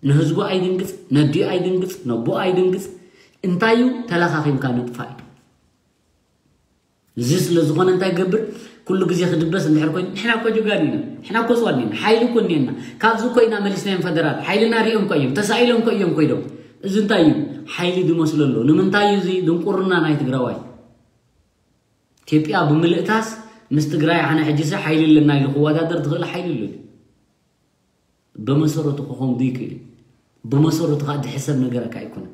ንህዝቡ ኣይድንግጽ፣ ነዲኡ ኣይድንግጽ፣ ነቦ ኣይድንግጽ። እንታይ እዩ? ተለኻኺምካ ምጥፋእ እዩ። እዚ ስለ ዝኾነ እንታይ ገብር? ኩሉ ግዜ ክድበስ እንድሕር ኮይኑ፣ ንሕና እኮ ጀጋኑ ኢና፣ ንሕና እኮ ስዋን ኢና፣ ሓይሊ እኮ እኒአና፣ ካብዚ እኮ ኢና መሊስናዮም ፈደራል፣ ሓይልና ሪኦም እኮ እዮም፣ ተሳኢሎም እኮ እዮም ኮይዶም። እዚ እንታይ እዩ? ሓይሊ ዝመስሎ ኣሎ። ንምንታይ እዩ እዚ ድንቁርና ናይ ትግራዋይ? ኢትዮጵያ ብምልእታስ ምስ ትግራይ ኣነ ሕጂሰ ሓይሊ ኣለና ኢሉ ክወዳደር ዝኽእል ሓይሊ ኣሎ? ብመሰረቱ ክኸውን ዘይክእል እዩ። ብመሰረቱ ከዓ ዝሕሰብ ነገረካ ኣይኮነን።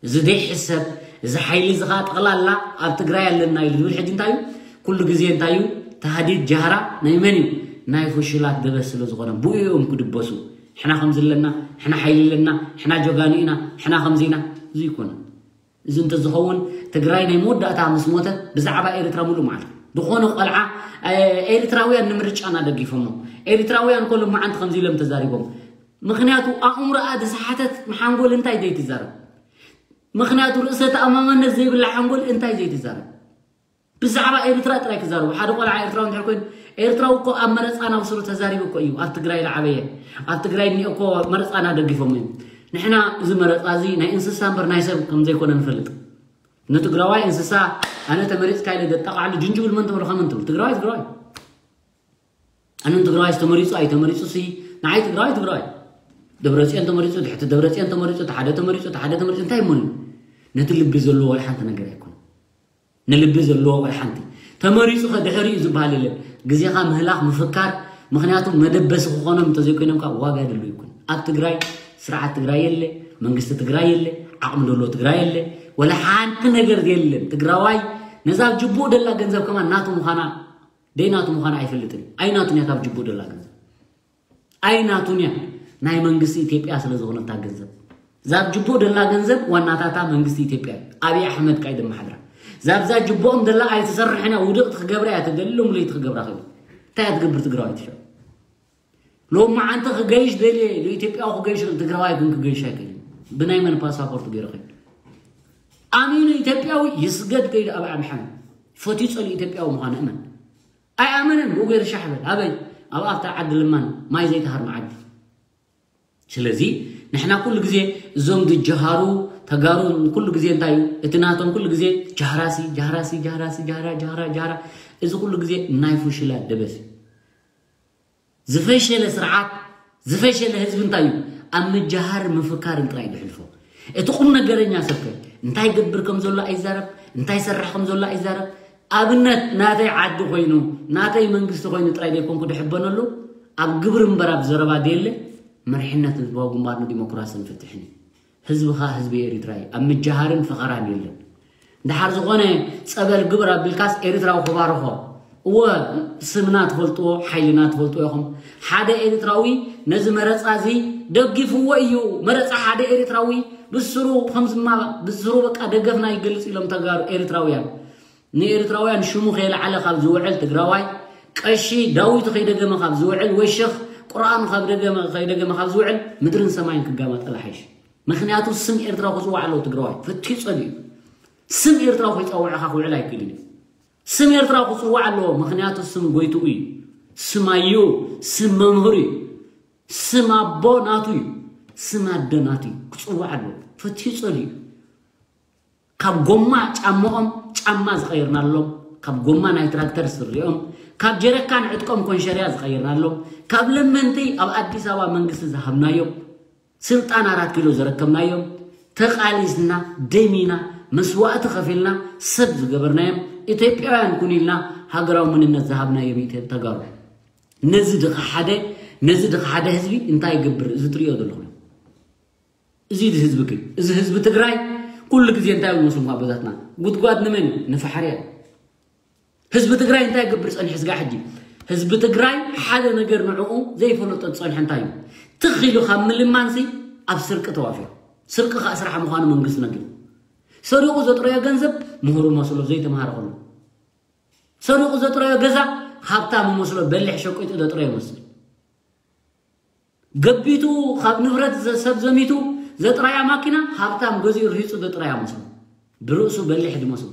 እዚ ዘይሕሰብ፣ እዚ ሓይሊ እዚ ከዓ ጠቕላላ ኣብ ትግራይ ኣለና ኢሉ ዝብል ሕጂ እንታይ እዩ? ኩሉ ግዜ እንታይ እዩ? ታህዲድ ጃህራ ናይ መን እዩ? ናይ ፍሹላት ደበስ ስለ ዝኾነ ብኡ እዮም ክድበሱ። ሕና ከምዚ ኣለና፣ ሕና ሓይሊ ኣለና፣ ሕና ጀጋኑ ኢና፣ ሕና ከምዚ ኢና። እዚ ይኮነ። እዚ እንተዝኸውን ትግራይ ናይ መወዳእታ ምስ ሞተ ብዛዕባ ኤርትራ ሙሉእ መዓልቲ ዝኾነ ቆልዓ፣ ኤርትራውያን ንምርጫና ደጊፎሞ። ኤርትራውያን እኮ ሎማዓንቲ ከምዚ ኢሎም ተዛሪቦም። ምኽንያቱ ኣእምሮኣ ዝሰሓተት ሓንጎል እንታይ ዘይትዛረብ? ምኽንያቱ ርእሰ ተኣማማነት ዘይብላ ሓንጎል እንታይ ዘይትዛረብ? ብዛዕባ ኤርትራ ጥራይ ክዛረቡ። ሓደ ቆልዓ ኤርትራዊ እንድሕር ኮይኑ፣ ኤርትራዊ እኮ ኣብ መረፃና ብስሩ ተዛሪቡ እኮ እዩ። ኣብ ትግራይ ዝዓበየ፣ ኣብ ትግራይ እኒኦ እኮ መረፃና ደጊፎም እዮም። ንሕና እዚ መረፃ እዚ ናይ እንስሳ እምበር ናይ ሰብ ከም ዘይኮነ ንፈልጥ። ንትግራዋይ እንስሳ፣ ኣነ ተመሪፅካ ኢለ ዘጣቃዕሉ ጅንጅብል መን ተመርኻ መን ትብል? ትግራዋይ ትግራዋይ። ኣነ ንትግራዋይ ተመሪፁ ኣይተመሪፁ ሲ ንዓይ ትግራዋይ ትግራዋይ። ደብረፅዮን ተመሪፁ፣ ትሕቲ ደብረፅዮን ተመሪፁ፣ ተሓደ ተመሪፁ፣ ተሓደ ተመሪፁ እንታይ ይመኑ? ነቲ ልቢ ዘለዎ ወላ ሓንቲ ነገር ኣይኮነ። ንልቢ ዘለዎ ወላ ሓንቲ። ተመሪፁ ከ ድሕሪኡ ዝበሃል የለን። ግዜኻ ምህላኽ ምፍካር፣ ምኽንያቱ መደበሲ ክኾኖም እንተዘይኮይኖም ካብ ዋጋ የድሉ ይኩን። ኣብ ትግራይ ስርዓት ትግራይ የለ፣ መንግስቲ ትግራይ የለ፣ ዓቕሚ ደሎ ትግራይ የለ፣ ወላ ሓንቲ ነገር የለን። ትግራዋይ ነዛ ጅቡኡ ደላ ገንዘብ ከማን ናቱ ምዃና ደይናቱ ምዃና ኣይፈልጥን እዩ። ኣይናቱን እያ ካብ ጅቡኡ ደላ ገንዘብ። ኣይናቱን እያ። ናይ መንግስቲ ኢትዮጵያ ስለ ዝኾነታ ገንዘብ። ዛብ ጅቡኡ ደላ ገንዘብ ዋናታታ መንግስቲ ኢትዮጵያ እዩ። ኣብይ ኣሕመድ ካይ ደመሓድራ። ዛብዛ ጅቡኦም ደላ ኣይትሰርሕን እያ። ውድቕቲ ክገብራ እያ ትደሊ፣ ሎሚ ለይቲ ክገብራ ክእል። እንታይ እያ ትገብር ትግራዋይ ትሸ? ሎሚ መዓንቲ ክገይሽ ደልየ ኢሉ ኢትዮጵያዊ ክገይሽ ትግራዋይ ግን ክገይሽ ኣይክእልን። ብናይ መን ፓስፖርት ገይሩ ኸይዱ? ኣሚኑ ኢትዮጵያዊ ይስገድ ከይዱ ኣብ ኣምሓም ፈትዩ ጸሉ ኢትዮጵያዊ ምዃኑ እመን። ኣይኣመንን ብኡ ገይሩ ሻሕ በል። ኣበይ? ኣብ ኣብታ ዓዲ ልማን ማይ ዘይተሃርመ ዓዲ። ስለዚ ንሕና ኩሉ ግዜ እዞም ዝጀሃሩ ተጋሩ ኩሉ ግዜ እንታይ እዩ? እቲ ናቶም ኩሉ ግዜ ጃህራሲ፣ ጃህራሲ፣ ጃህራሲ፣ ጃህራ፣ ጃህራ፣ ጃህራ። እዚ ኩሉ ግዜ ናይ ፍሽላት ደበስ እዩ። ዝፈሸለ ስርዓት፣ ዝፈሸለ ህዝቢ እንታይ እዩ? ኣብ ምጅሃር ምፍካርን ጥራይ ዝሕልፎ። እቲ ቁም ነገረኛ ሰብከ እንታይ ገብር ከም ዘሎ ኣይዛረብ፣ እንታይ ሰርሕ ከም ዘሎ ኣይዛረብ። ኣብነት ናተይ ዓዲ ኮይኑ፣ ናተይ መንግስቲ ኮይኑ ጥራይ ዘይኮንኩ ድሕበነሉ፣ ኣብ ግብሪ እምበር ኣብ ዘረባ ደየለ። መሪሕነት ህዝባዊ ግንባር ንዲሞክራስን ፍትሕን እዩ። ህዝብኻ ህዝቢ ኤሪትራ እዩ። ኣብ ምጅሃርን ፈኸራን የለን። ድሓር ዝኾነ ጸበል ግብር ኣቢልካስ ኤሪትራዊ ክባርኾ። እወ፣ ስምና ትፈልጥዎ፣ ሓይልና ትፈልጥዎ ኢኹም። ሓደ ኤሪትራዊ ነዚ መረጻ እዚ ደጊፍዎ እዩ። መረጻ ሓደ ኤሪትራዊ ብስሩ ከምዝማ ብስሩ በቃ ደገፍና ይገልጽ ኢሎም ተጋሩ ኤሪትራውያን። ንኤርትራውያን ሽሙ ከየልዓለ ካብ ዝውዕል ትግራዋይ፣ ቀሺ ዳዊቱ ከይደገመ ካብ ዝውዕል፣ ወይ ሸኽ ቁርኣኑ ካብ ደገመ ከይደገመ ካብ ዝውዕል፣ ምድርን ሰማይን ክጋመጠል ሓይሽ። ምኽንያቱ ስም ኤርትራ ክጽዋዕ ኣለዎ ትግራዋይ። ፈትዩ ጸሊኡ። ስም ኤርትራ ከይጸውዐኻ ክውዕል ኣይክእልን እዩ። ስም ኤርትራ ክጽዋዕ ኣለዎ፣ ምኽንያቱ ስም ጎይትኡ እዩ። ስም ኣዩ፣ ስም መምህር እዩ። ስም ኣቦ ናቱ እዩ። ስም ኣደ ናቱ እዩ። ክጽዋዕ ኣለዎ። ፈትዩ ጸሊኡ። ካብ ጎማ ጫማኦም ጫማ ዝቐየርናሎም፣ ካብ ጎማ ናይ ትራክተር ስሪኦም፣ ካብ ጀረካን ዕጥቆም ኮንሸርያ ዝቐየርናሎም፣ ካብ ለመንቲ ኣብ ኣዲስ ኣበባ መንግስቲ ዝሃብናዮም፣ ስልጣን ኣራት ኪሎ ዘረከብናዮም፣ ተቓሊስና፣ ደሚና፣ መስዋእቲ ከፊልና፣ ሰብ ዝገበርናዮም፣ ኢትዮጵያውያን ኩን ኢልና ሃገራዊ መንነት ዝሃብናዮም ኢትዮ-፣ ተጋሩ። ነዚ ድኻ ሓደ፣ ነዚ ድኻ ሓደ ህዝቢ እንታይ ይገብር? እዚ ትሪኦ ዘለኹም። እዚ ህዝቢ ግን፣ እዚ ህዝቢ ትግራይ ኩሉ ግዜ እንታይ ይመስሉ ኣቦታትና? ጉድጓድ ንመን እዩ? ንፋሕሪ እዩ። ህዝቢ ትግራይ እንታይ ይገብር ጸኒሑ ስጋዕ ሕጂ? ህዝቢ ትግራይ ሓደ ነገር ንዕኡ ዘይፈለጦ ዝጸንሐ እንታይ እዩ? ትኽ ኢሉ ካብ ምልማንሲ ኣብ ስርቂ ተዋፊሩ። ስርቂ ከዓ ስራሕ ምዃኑ መንግስቲ ነጊሩ። ሰሪቑ ዘጥረዮ ገንዘብ ምሁር መስሎ ዘይተምሃረ ከሎ። ሰሪቑ ዘጥረዮ ገዛ ሃብታም መስሎ በሊሕ ሸቂጡ ዘጥረዮ መስል። ገቢቱ ካብ ንብረት ዘ-፣ ሰብ ዘሚቱ ዘጥራያ ማኪና ሃብታም ገዚኡ ርሂጹ ዘጥራያ መስሎ። ብርእሱ በሊሕ ዝመስሉ።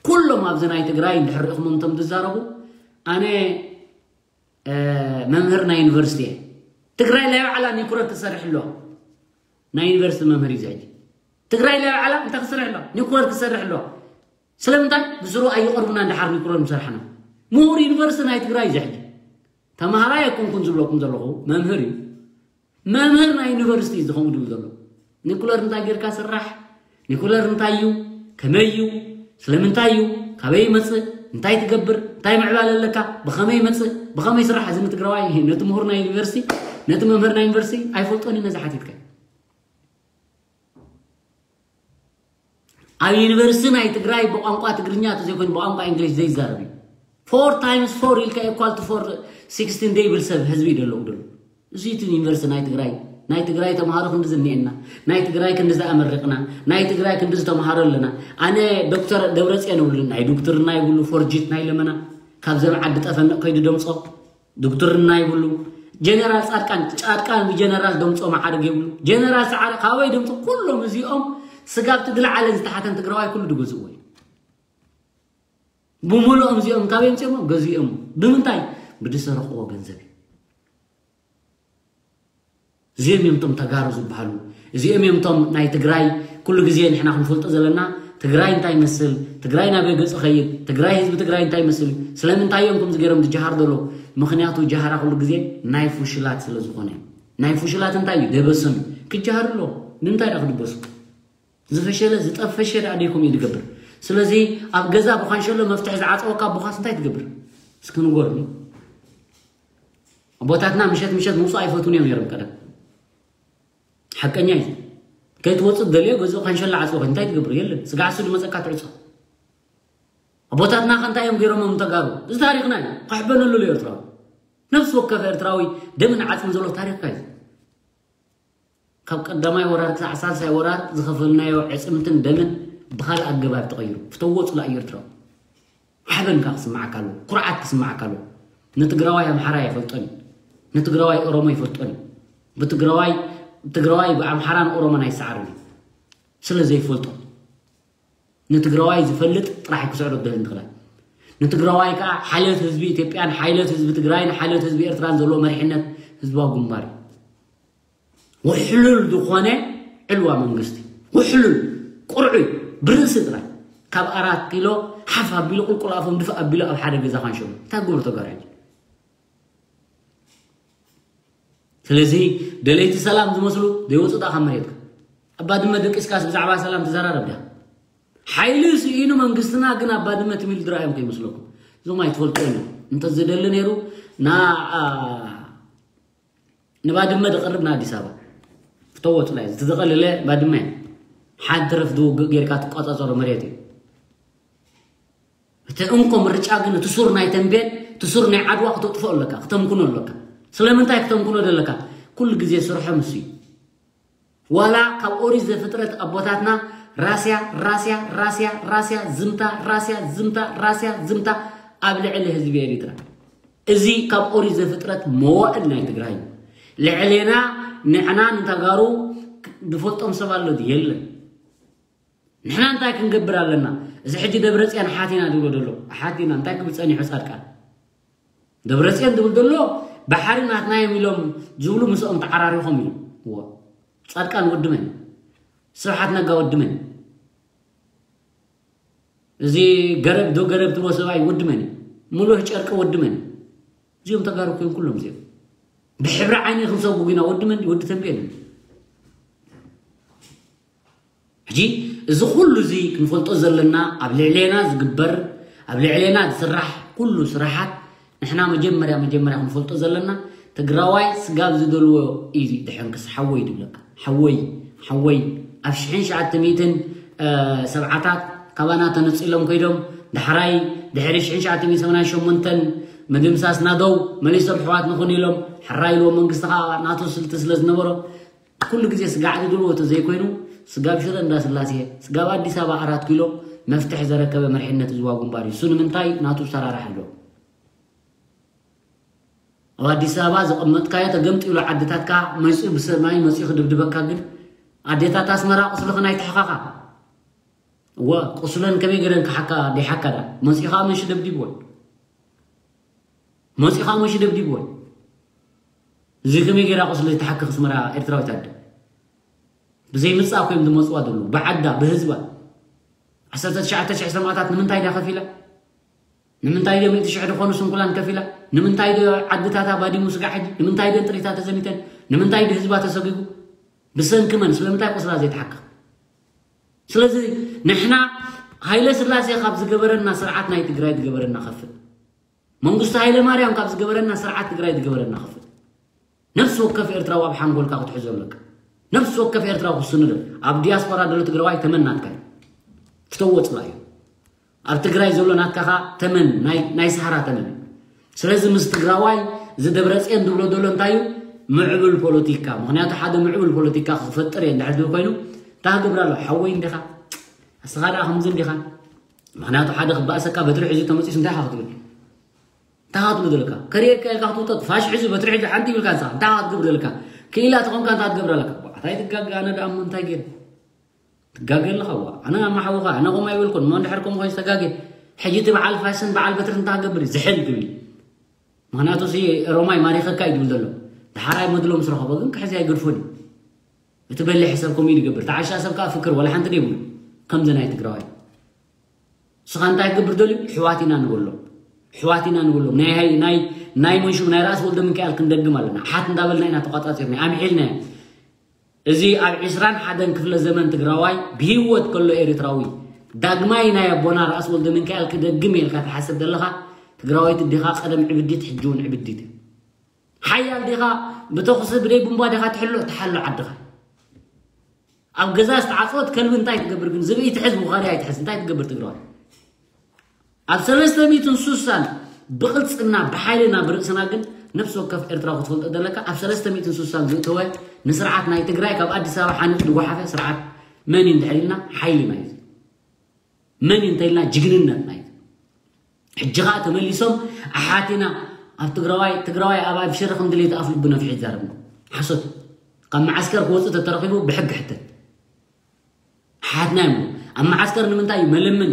ኩሎም ኣብዚ ናይ ትግራይ እንድሕር ርኢኹሞም እንቶም ትዛረቡ፣ ኣነ፣ እ፣ መምህር ናይ ዩኒቨርሲቲ እየ። ትግራይ ናይ ባዕላ ኒኩለር ትሰርሕ ኣለዋ። ናይ ዩኒቨርሲቲ መምህር እዩ እዚ ሕጂ። ትግራይ ናይ ባዕላ እንታይ ክሰርሕ ኣለዋ? ኒኩለር ክሰርሕ ኣለዋ። ስለምንታይ? ብስሩ ኣይቐርቡና፣ እንድሓር ኒኩለር ምሰርሕና። ምሁር ዩኒቨርሲቲ ናይ ትግራይ እዩ እዚ ሕጂ። ተምሃራይ ኣይኮንኩን ዝብለኩም ዘለኹ፣ መምህር እዩ። መምህር ናይ ዩኒቨርሲቲ እዩ ዝኸውን ድብል ዘሎ። ኒኩለር እንታይ ጌርካ ስራሕ? ኒኩለር እንታይ እዩ? ከመይ እዩ? ስለምንታይ እዩ? ካበይ ይመጽእ? እንታይ ትገብር? እንታይ ምዕባለ ኣለካ? ብኸመይ ይመጽእ? ብኸመይ ይስራሕ? እዚ ንትግራዋይ፣ ነቲ ምሁር ናይ ዩኒቨርሲቲ፣ ነቲ መምህር ናይ ዩኒቨርሲቲ ኣይፈልጦን እዩ ነዚ ሓቲትካ። ኣብ ዩኒቨርሲቲ ናይ ትግራይ ብቋንቋ ትግርኛ ተዘይኮይኑ ብቋንቋ እንግሊሽ ዘይዛረብ እዩ። Four times four ኢልካ equal to four sixteen ደይብል ሰብ ህዝቢ እዩ ደለዉ ደሎ። እዚ እቲ ዩኒቨርሲቲ ናይ ትግራይ፣ ናይ ትግራይ ተምሃሮ ክንዲ ዝኒኤና፣ ናይ ትግራይ ክንዲ ዝኣመሪቕና፣ ናይ ትግራይ ክንዲ ዝተምሃሮ ኣለና። ኣነ ዶክተር ደብረፅዮን እብሉ፣ ናይ ዶክትርና ይብሉ፣ ፎርጂት ናይ ለመና፣ ካብ ዘብ ዓዲ ጠፈንቕ ከይዱ ደምፆ ዶክትርና ይብሉ። ጀነራል ፃድቃን፣ ፃድቃን ብጀነራል ደምፆ መዓርግ ይብሉ። ጀነራል ሰዓረ ካበይ ደምፆ? ኩሎም እዚኦም ስጋብ እቲ ዝለዓለን ዝተሓተን ትግራዋይ ኩሉ ድገዝእዎ እዩ። ብምሉኦም እዚኦም ካበይ ምፅኦም? ገዚኦም። ብምንታይ? ብድሰረቕዎ ገንዘብ እዩ። እዚኦም እዮም እቶም ተጋሩ ዝበሃሉ። እዚኦም እዮም እቶም ናይ ትግራይ ኩሉ ግዜ ንሕና ክንፈልጦ ዘለና፣ ትግራይ እንታይ ይመስል፣ ትግራይ ናበይ ገፁ ኸይድ፣ ትግራይ ህዝቢ ትግራይ እንታይ ይመስል፣ ስለምንታይ እዮም ከምዚ ገይሮም ዝጀሃር ዘሎ? ምኽንያቱ ጀሃራ ኩሉ ግዜ ናይ ፍሽላት ስለ ዝኾነ እዩ። ናይ ፍሽላት እንታይ እዩ? ደበሶም እዩ። ክጀሃር ኣሎ። ንምንታይ ደኣ ክድበሱ? ዝፈሸለ ዝጠፈሸ ደኣ ደይኮም እዩ ዝገብር። ስለዚ ኣብ ገዛ ብኻንሸሎ መፍትሒ ዝዓፀወካ ኣቦኻስ እንታይ ትገብር? እስኪ ንገሩኒ። ኣቦታትና ምሸት ምሸት ምውፃእ ኣይፈትዉን እዮም ነይሮም ቀደም። ሓቀኛ እዩ። ከይትወፅእ ደልዮ ገዝኡ ካንሸላ ዓፅወ እንታይ ትገብር? የለን። ስጋዕ እሱ ዝመፀካ ትዕፆ። ኣቦታትና ከ እንታይ እዮም ገይሮሞም ተጋሩ? እዚ ታሪኽና እዩ። ከሕበነሉ እዩ ኤርትራዊ። ነፍሲ ወከፍ ኤርትራዊ ደምን ዓፅምን ዘሎ ታሪኽካ እዩ። ካብ ቀዳማይ ወራር ክሳዕ ሳልሳይ ወራር ዝኸፈልናዮ ዕፅምትን ደምን ብኻልእ ኣገባብ ተቐይሩ። ፍተዎ ፅላእ እዩ ኤርትራዊ። ሓበን ከዓ ክስማዓካ ኣለዎ። ኩርዓት ክስማዓካ ኣለዎ። ንትግራዋይ ኣምሓራ ኣይፈልጦን እዩ። ንትግራዋይ ኦሮሞ ኣይፈልጦን እዩ። ብትግራዋይ ትግራዋይ ብኣምሓራን ኦሮሞን ኣይሰዓርን እዩ። ስለ ዘይፈልጦ ንትግራዋይ ዝፈልጥ ጥራሕ ክስዕሮ ደል እንትኽላል ንትግራዋይ ከዓ ሓልዮት ህዝቢ ኢትዮጵያን ሓልዮት ህዝቢ ትግራይን ሓልዮት ህዝቢ ኤርትራን ዘለዎ መሪሕነት ህዝባዊ ግንባር እዩ። ውሕሉል ዝኾነ ዕልዋ መንግስቲ ውሕሉል ቁርዑይ ብርእሲ ጥራይ ካብ ኣራት ኪሎ ሓፍ ኣቢሉ ቁልቁል ኣፎም ድፍእ ኣቢሉ ኣብ ሓደ ገዛ ካንሸሉ እንታይ ግብሩ ተጋሩ ሕጂ? ስለዚ ደለይቲ ሰላም ዝመስሉ ዘይወፁ ጣ ካብ መሬትካ ኣብ ባድመ ደቂስካስ ብዛዕባ ሰላም ትዘራረብ ዳ ሓይሊ ስኢኑ መንግስትና ግን ኣብ ባድመ ትሚል ዝረኣዮም ከይመስለኩም እዞም ኣይትፈልጡ እዮም እንተዝደሊ ነይሩ ና ንባድመ ዝቐርብ ንኣዲስ ኣበባ ክተወጡ ናይ እቲ ዝቐለለ ባድመ ሓንቲ ረፍዲ ውግእ ጌርካ ትቆፃፀሮ መሬት እዩ እቲ እንኮ ምርጫ ግን እቲ ሱር ናይ ተንቤን እቲ ሱር ናይ ዓድዋ ክተጥፍኦ ኣለካ ክተምክኖ ኣለካ ስለምንታይ ክተምክኖ ዘለካ ኩሉ ግዜ ስርሖ ምስ እዩ ዋላ ካብ ኦሪት ዘፍጥረት ኣቦታትና ራስያ ራስያ ራስያ ራስያ ዝምታ ራስያ ዝምታ ራስያ ዝምታ ኣብ ልዕሊ ህዝቢ ኤሪትራ እዚ ካብ ኦሪት ዘፍጥረት መዋእል ናይ ትግራይ ልዕሌና ንዕና ንተጋሩ ዝፈልጦም ሰብ ኣሎ የለን ንሕና እንታይ ክንገብር ኣለና እዚ ሕጂ ደብረፅያን ሓቲና ዝብሎ ዘሎ ሓቲና እንታይ ክብል ፀኒሑ ፃድቃን ደብረፅዮን ዝብል ዘሎ ባሕሪ ናትና እዮም ኢሎም ዝብሉ ምስኦም ተዓራሪኾም ኢሉ እዎ ፃድቃን ወዲ መን ስብሓት ነጋ ወዲ መን እዚ ገረብ ዶ ገረብ ትብሎ ሰብኣይ ወዲ መን እዩ ሙሉህ ጨርቂ ወዲ መን እዩ እዚኦም ተጋሩ ኮይም ኩሎም እዚኦም ብሕብሪ ዓይኒ ክንሰጉ ግና ወዲ መን ወዲ ተንቤን እዩ ሕጂ እዚ ኩሉ እዚ ክንፈልጦ ዘለና ኣብ ልዕሌና ዝግበር ኣብ ልዕሌና ዝስራሕ ኩሉ ስራሓት ንሕና መጀመርያ መጀመርያ ክንፈልጦ ዘለና ትግራዋይ ስጋብ ዝደልዎ እዩ ድሕንክስ ሓወይ ድብለካ ሓወይ ሓወይ ኣብ ሽሕን ሸዓተ ሚእትን ሰብዓታት ካባና ተነፂሎም ከይዶም ዳሕራይ ድሕሪ ሽሕን ሸዓተ ሚእትን ሰማንያን ሸሞንተን ምድምሳስ ናደው መሊሶም ሕዋት ንኹን ኢሎም ሕራይ ኢልዎ መንግስቲ ከዓ ናቱ ስልቲ ስለ ዝነበሮ ኩሉ ግዜ ስጋዕ ዝድልዎ ተዘይኮይኑ ስጋብ ሽረ እንዳስላሴ ስጋብ ኣዲስ ኣበባ ኣራት ኪሎ መፍትሒ ዘረከበ መሪሕነት ህዝባዊ ግንባር እዩ። እሱ ንምንታይ ናቱ ሰራራሕ ኣሎ። ኣብ ኣዲስ ኣበባ ዘቐመጥካዮ ተገምጢሉ ዓድታትካ መፂኡ ብሰማይ መፂኡ ክድብድበካ ግን ኣዴታት ኣስመራ ቁስልኽን ኣይትሕኻኻ። እወ ቁስለን ከመይ ገረን ክሓካ ደይሓካ ዳ መፂኡ ከዓ መንሽ ደብዲብወን መፂኡ ከዓ መንሽ ደብዲብወን እዚ ከመይ ገይራ ቁስሊ ተሓክኽ ኣስመራ ኤርትራዊት ኣደ? ብዘይ ምጻ ኮይም ዝመጽዋ ዘለዉ ብዓዳ ብህዝባ ዓሰርተ ትሽዓተ ሽሕ ሰማእታት ንምንታይ ዳ ከፊላ? ንምንታይ ዶ ሚእቲ ሽሕ ዝኾኑ ስንኩላን ከፊላ? ንምንታይ ዶ ዓድታታ ባዲሙ ስጋዕ ሕጂ? ንምንታይ ዶ ጥሪታ ተዘሚተን? ንምንታይ ዶ ህዝባ ተሰጊጉ? ብሰንኪ መን? ስለምንታይ ቁስላ ዘይተሓክኽ? ስለዚ ንሕና ሃይለ ስላሴ ካብ ዝገበረና ስርዓት ናይ ትግራይ ዝገበረና ከፍል፣ መንግስቱ ሃይለ ማርያም ካብ ዝገበረና ስርዓት ትግራይ ዝገበረና ከፍል፣ ነፍሲ ወከፍ ኤርትራዊ ኣብ ሓንጎልካ ክትሕዞ ኣለካ። ነፍሲ ወከፍ ኤርትራዊ ክስንዶ ኣብ ዲያስፖራ ዘሎ ትግራዋይ ተመን ናትካ እዩ። ፍተዎ ጽላእ እዩ። ኣብ ትግራይ ዘሎ ናትካ ኸኣ ተመን ናይ ናይ ሰሃራ ተመን እዩ። ስለዚ ምስ ትግራዋይ እዚ ደብረጽዮን ዝብሎ ዘሎ እንታይ እዩ? ምዕቡል ፖለቲካ። ምኽንያቱ ሓደ ምዕቡል ፖለቲካ ክፈጥር እየ እንድሕር ዝብል ኮይኑ፣ እንታይ ክገብር ኣሎ? ሓወይ እንዲኻ፣ እስኻ ደኣ ከምዚ እንዲኻ። ምኽንያቱ ሓደ ክባእሰካ በትሪ ሒዙ ተመጺሱ እንታይ ኢኻ ክትብል? እንታይ ኢኻ ክትብል ዘለካ? ከርእየካ ኢልካ ክትውጠጥ ፋሽ ሒዙ በትሪ ሒዙ ሓንቲ ይብልካ ንስኻ እንታይ ኢኻ ክትገብር ዘለካ? ክኢላ ተኾንካ እንታይ ክትገብር ኣለካ? ኣታ ኣይትጋገ፣ ኣነ ደኣ እሞ እንታይ ገይረ? ትጋገ ኣለኻ ዋ። ኣነ ኣማሓውኻ፣ ኣነ ከምኡ ኣይበልኩን። እሞ እንድሕር ከምኡ ኮይኑ ዝተጋገ፣ ሕጂ እቲ በዓል ፋሽን በዓል በትሪ እንታይ ክገብር እዩ? ዝሕል ክብል እዩ። ምኽንያቱ እዚ ሮማይ ማሪኸካ እዩ ዝብል ዘሎ። ደሓራይ መድሎ ምስ ረኸቦ ግን ክሕዚ ኣይገድፎን እዩ። እቲ በሊሕ ሰብ ከምኡ እዩ ዝገብር። ተዓሻ ሰብ ከኣ ፍክር፣ ዋላ ሓንቲ ደይብሉ። ከምዚ ናይ ትግራዋይ። ንስኻ እንታይ ክገብር ደልዩ? ኣሕዋት ኢና ንበሎም። ኣሕዋት ኢና ንበሎም። ናይ ሃይ-፣ ናይ፣ ናይ መንሹም ናይ ራእሲ ወልደ ሚካኤል ክንደግም ኣለና። ኣሓት እንዳበልና ኢና ተቋጻጺርና፣ ኣምሒልና። እዚ ኣብ ዕስራን ሓደን ክፍለ ዘመን ትግራዋይ ብህይወት ከሎ ኤርትራዊ ዳግማይ ናይ ኣቦና ራእሲ ወልደ ሚካኤል ክደግም ኢልካ ትሓስብ ዘለኻ ትግራዋይት ዲኻ? ቀደም ዕብዲት፣ ሕጂ እውን ዕብዲት። ሓያል ዲኻ? ብተኹሲ ብደይ ቡምባ ዲኻ ትሕሎ? ትሓሎ ዓድኻ። ኣብ ገዛ ዝተዓጽወት ከልቢ እንታይ ትገብር ግን? ዝብኢ ትሕዝ፣ ውኻርያ ኣይትሕዝ፣ እንታይ ትገብር ትግራዋይ? ኣብ ሰለስተ ሚእትን ስሳን ብቕልጽምና ብሓይልና ብርእስና ግን ነፍሲ ወከፍ ኤርትራዊ ክትፈልጦ ዘለካ፣ ኣብ ሰለስተ ሚእትን ስሳን ዝእተወ ንስርዓት ናይ ትግራይ ካብ ኣዲስ ኣበባ ሓንጥ ዝጓሓፈ ስርዓት መን እዩ እንድሕር ኢልና፣ ሓይልና እዩ። መን እዩ እንተኢልና፣ ጅግንነትና እዩ። ሕጂ ኸኣ ተመሊሶም ኣሓቲና ኣብ ትግራዋይ፣ ትግራዋይ ኣብ ኣብሽር ከም ድሌት ኣፍ ልቡ ነፍሒ ይዛረብ። ሓሶት። ካብ መዓስከር ክወጽእ ተተረኺቡ ብሕጊ ሕተት። ሓትና እዮም። ኣብ መዓስከር ንምንታይ እዩ? መለመኒ።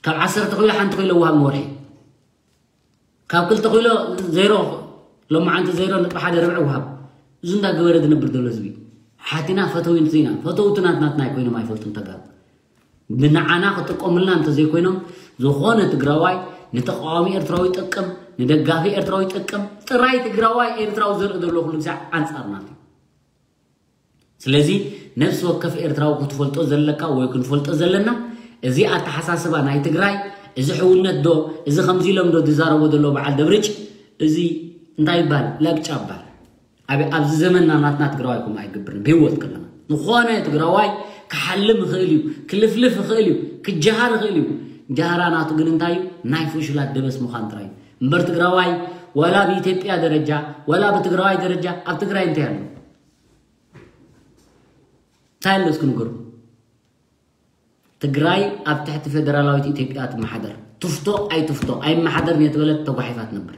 ካብ ዓሰርተ ኪሎ ሓንቲ ኪሎ ወሃብ ንወርሒ። ካብ ክልተ ኪሎ ዜሮ፣ ሎማዓንቲ ዜሮ ነጥቢ ሓደ ርብዒ ወሃብ። እዚ እንዳገበረ ዝነብር ዘሎ ህዝቢ። ሓቲና ፈተውቲ ኢና። ፈተውቲ ናት-፣ ናትና ኣይኮይኖም ኣይፈልጡን ተጋሩ። ንዓና ክጥቀሙልና እንተዘይኮይኖም፣ ዝኾነ ትግራዋይ ንተቃዋሚ ኤርትራዊ ይጠቅም፣ ንደጋፊ ኤርትራዊ ይጠቅም። ጥራይ ትግራዋይ ኤርትራዊ ዘርኢ ዘሎ ኩሉ ግዜ ኣንጻር ናቱ እዩ። ስለዚ ነፍሲ ወከፍ ኤርትራዊ ክትፈልጦ ዘለካ ወይ ክንፈልጦ ዘለና፣ እዚ ኣተሓሳስባ ናይ ትግራይ፣ እዚ ሕውነት ዶ፣ እዚ ከምዚ ኢሎም ዶ ዝዛረቦ ዘሎ በዓል ደብርጭ፣ እዚ እንታይ ይባል? ለቅጫ ይባል። ኣብ-፣ ኣብዚ ዘመንና ናትና ትግራዋይ ከምኡ ኣይገብርን። ብህይወት ከለና ዝኾነ ትግራዋይ ክሓልም ይኽእል እዩ፣ ክልፍልፍ ይኽእል እዩ፣ ክጀሃር ይኽእል እዩ። ጀሃራ ናቱ ግን እንታይ እዩ? ናይ ፍሹላት ደበስ ምዃን ጥራይ እዩ። እምበር ትግራዋይ ዋላ ብኢትዮጵያ ደረጃ፣ ዋላ ብትግራዋይ ደረጃ ኣብ ትግራይ እንታይ ኣሎ? እንታይ ኣሎ እስኪ ንገሩ? ትግራይ ኣብ ትሕቲ ፌደራላዊት ኢትዮጵያ ትመሓደር። ትፍቶ ኣይትፍቶ፣ ኣይመሓደርን እየ ተበለት ተጓሒፋ ትነብር።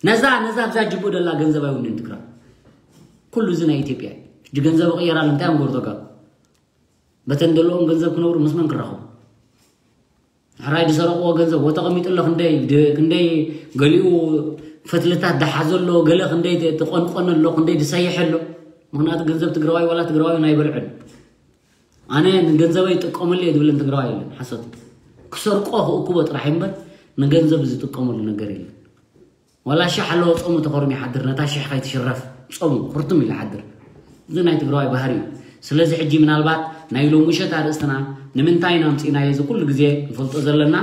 ነዛ፣ ነዛ ኣብዛ ጅቡእ ደላ ገንዘብ ኣይውንን ትግራይ። ኩሉ እዚ ናይ ኢትዮጵያ እዩ። ሕጂ ገንዘብ ይቕየር ኣሎ፣ እንታይ እዮም ገሩ ተጋሩ? በተን ደለዎም ገንዘብ ክነብሩ ምስ መን ክራኸቡ? ሕራይ ዝሰረቕዎ ገንዘብ ወተቐሚጡ ኣሎ፣ ክንደይ ድ-፣ ክንደይ ገሊኡ ፈትልታት ዝሓዘ ኣሎ፣ ገለ ክንደይ ት-፣ ትቆንቆን ኣሎ፣ ክንደይ ዝሰይሕ ኣሎ። ምኽንያቱ ገንዘብ ትግራዋይ ዋላ ትግራዋይ ኣይበልዕን። ኣነ ንገንዘበይ ይጥቀመሉ እየ ዝብልን ትግራዋይ የለን። ሓሶት እዩ። ክሰርቆ ክእክቦ ጥራሕ እምበር ንገንዘብ ዝጥቀመሉ ነገር የለን። ዋላ ሽሕ ኣለዎ ጾሙ ተኾርም ይሓድር፣ ነታ ሽሕ ከይትሽረፍ ጾሙ ኩርትም ኢሉ ይሓድር። እዚ ናይ ትግራዋይ ባህሪ እዩ። ስለዚ ሕጂ ምናልባት ናይ ሎሚ ምሸት ኣርእስትና ንምንታይ ኢና ኣምጺእናዮ እዚ ኩሉ ግዜ ንፈልጦ ዘለና።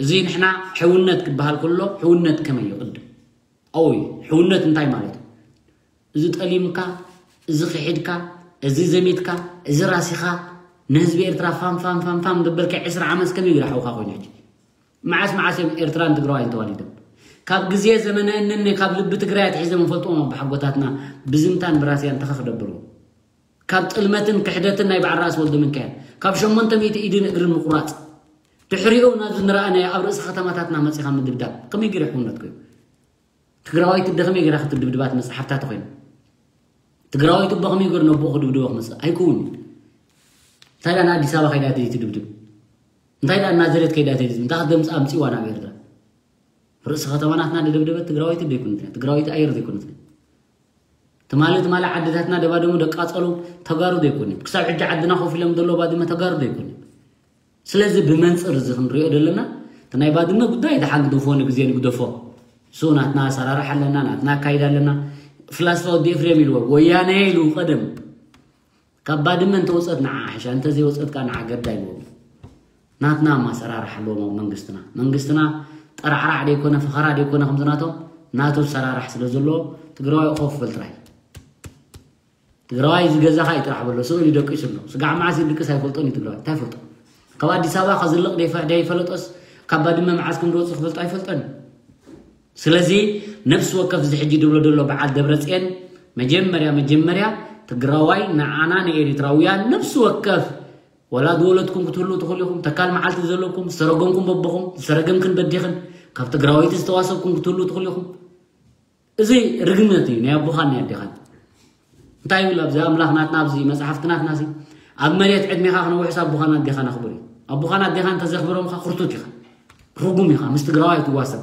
እዚ ንሕና ሕውነት ክበሃል ከሎ ሕውነት ከመይ እዩ ቅድም? ኣወይ፣ ሕውነት እንታይ ማለት እዩ? እዚ ጠሊምካ፣ እዚ ክሒድካ፣ እዚ ዘሚትካ፣ እዚ ራሲኻ ንህዝቢ ኤርትራ ፋም ፋም ፋም ፋም ደበልካ ዕስራ ዓመት ከመይ ገይሩ ሓውካ ኮይኑ ሕጂ? መዓስ መዓስ እዮም ኤርትራን ትግራዋይን ተዋሊዶም? ካብ ግዜ ዘመነ እነነ ካብ ልቢ ትግራይ ኣትሒዞም እንፈልጥዎም ኣቦሓጎታትና ብዝምታን ብራስያን ተኸኽ ደብርዎ። ካብ ጥልመትን ክሕደትን ናይ በዓል ራእሲ ወልደ ሚካኤል፣ ካብ ሸሞንተ ሚእቲ ኢድን እግርን ምቁራጽ፣ ድሕሪኡ ናብዚ ንረኣናዮ ኣብ ርእሲ ከተማታትና መጺኻ ምድብዳብ ከመይ ገይሩ ሕውነት ኮይኑ? ትግራዋይት ኣደ ከመይ ገይራ ክትድብድባ ትመጽእ ሓፍታ ተኾይኑ? ትግራዋይት ኣቦ ከመይ ገይሩ ነቦኡ ክድብድቦ ክመጽእ? ኣይከውን። እንታይ ደኣ ንኣዲስ ኣበባ ከይዳ ትድብድብ? እንታይ ደኣ ናዝሬት ከይዳ ትድብድብ? እንታይ ክትደምጽ ኣምጺዋ ናብ ኤርትራ? ርእሲ ከተማ ናትና ዝደብደበት ትግራዋይት ዘይኮነትን እያ። ትግራዋይት ኣየር ዘይኮነትን እያ። ትማሊ ትማሊ ዓድታትና ደባደሙ ደቃጸሉ ተጋሩ ዘይኮነ ክሳብ ሕጂ ዓድና ኮፍ ኢሎም ዘሎ ባድመ ተጋሩ ዘይኮነ። ስለዚ ብመንፅር እዚ ክንሪኦ ዘለና እቲ ናይ ባድመ ጉዳይ ደሓን ግደፎ፣ ንግዜ ንግደፎ። እሱ ናትና ኣሰራርሓ ኣለና፣ ናትና ኣካይዳ ኣለና። ፍላስፋ ወዲ ኤፍሬም ኢልዎ ወያነ ኢሉ ቀደም ካብ ባድመ እንተወፀት ንዓ ሓሻ፣ እንተዘይወፀት ከዓ ንዓ ገዳ ኢልዎም። ናትና ማሰራርሕ ኣለዎም ኣብ መንግስትና። መንግስትና ጠራዕራዕ ደይኮነ ፈኸራ ደይኮነ ከምዚ ናቶም ናቱ ሰራራሕ ስለ ዘለዎ ትግራዋይ ኮፍ በል ጥራይ። ትግራዋይ እዚ ገዛኻ እዩ ጥራሕ በሎ። ስቕ ኢሉ ደቂሱ ኣሎ። ስጋዕ መዓስ ይድቅስ ኣይፈልጦን እዩ ትግራዋይ። እንታይ ይፈልጦ? ካብ ኣዲስ ኣበባ ከዝልቕ ደይፈ- ደይፈለጦስ ካብ ባድመ መዓስ ከም ዝወፅእ ክፈልጦ ኣይፈልጦን እዩ። ስለዚ ነፍሲ ወከፍ እዚ ሕጂ ድብሎ ዘሎ በዓል ደብረፅየን መጀመርያ መጀመርያ ትግራዋይ ንዓና ንኤሪትራውያን ነፍሲ ወከፍ ወላ ዝወለድኩም ክትህልው ትኽእሉ ኢኹም። ተካል መዓልቲ ዘለኩም ዝተረገምኩም በቦኹም ዝተረገምክን በዲኽን ካብ ትግራወይቲ ዝተዋሰብኩም ክትህልው ትኽእሉ ኢኹም። እዚ ርግመት እዩ ናይ ኣቦኻን ናይ ኣዴኻን። እንታይ ይብል ኣብዚ ኣምላኽ ናትና ኣብዚ መጽሓፍቲ ናትና ሲ ኣብ መሬት ዕድሜኻ ክነውሕስ ኣቦኻን ኣዴኻን ኣኽብር እዩ። ኣቦኻን ኣዴኻን እንተዘኽብሮምኻ ክርቱት ኢኻ፣ ርጉም ኢኻ። ምስ ትግራዋይ ትዋሰብ፣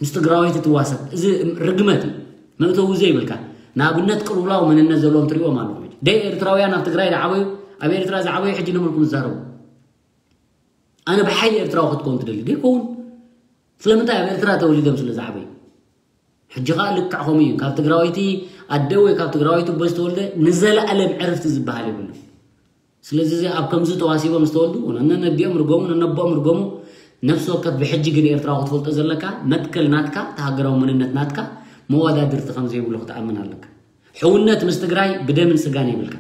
ምስ ትግራወይቲ ትዋሰብ። እዚ ርግመት እዩ። መእተዊ ዘይብልካ ንኣብነት ቅልውላው መንነት ዘለዎም ትሪእዎም ኣለኹም። ደይ ኤርትራውያን ኣብ ትግራይ ዝዓበዩ ኣብ ኤርትራ ዝዓበዩ ሕጂ ንመልኩም ዝዛረቡ ኣነ ብሓይሊ ኤርትራዊ ክትከውን ትደሊ ደይከውን። ስለምንታይ ኣብ ኤርትራ ተወሊዶም ስለ ዝዓበዩ። ሕጂ ኸዓ ልክዕ ከምኡ እዩ። ካብ ትግራወይቲ ኣደ ወይ ካብ ትግራወይቲ ኣቦ ዝተወልደ ንዘለኣለም ዕርፍቲ ዝበሃል የብሉ። ስለዚ እዚ ኣብ ከምዚ ተዋሲቦም ዝተወልዱ ነነዲኦም ርገሙ ነነቦኦም ርገሙ። ነፍሲ ወከፍ ብሕጂ ግን ኤርትራዊ ክትፈልጦ ዘለካ መትከል ናትካ ተሃገራዊ መንነት ናትካ መወዳድርቲ ከም ዘይብሉ ክትኣምን ኣለካ። ሕውነት ምስ ትግራይ ብደምን ስጋን የብልካ።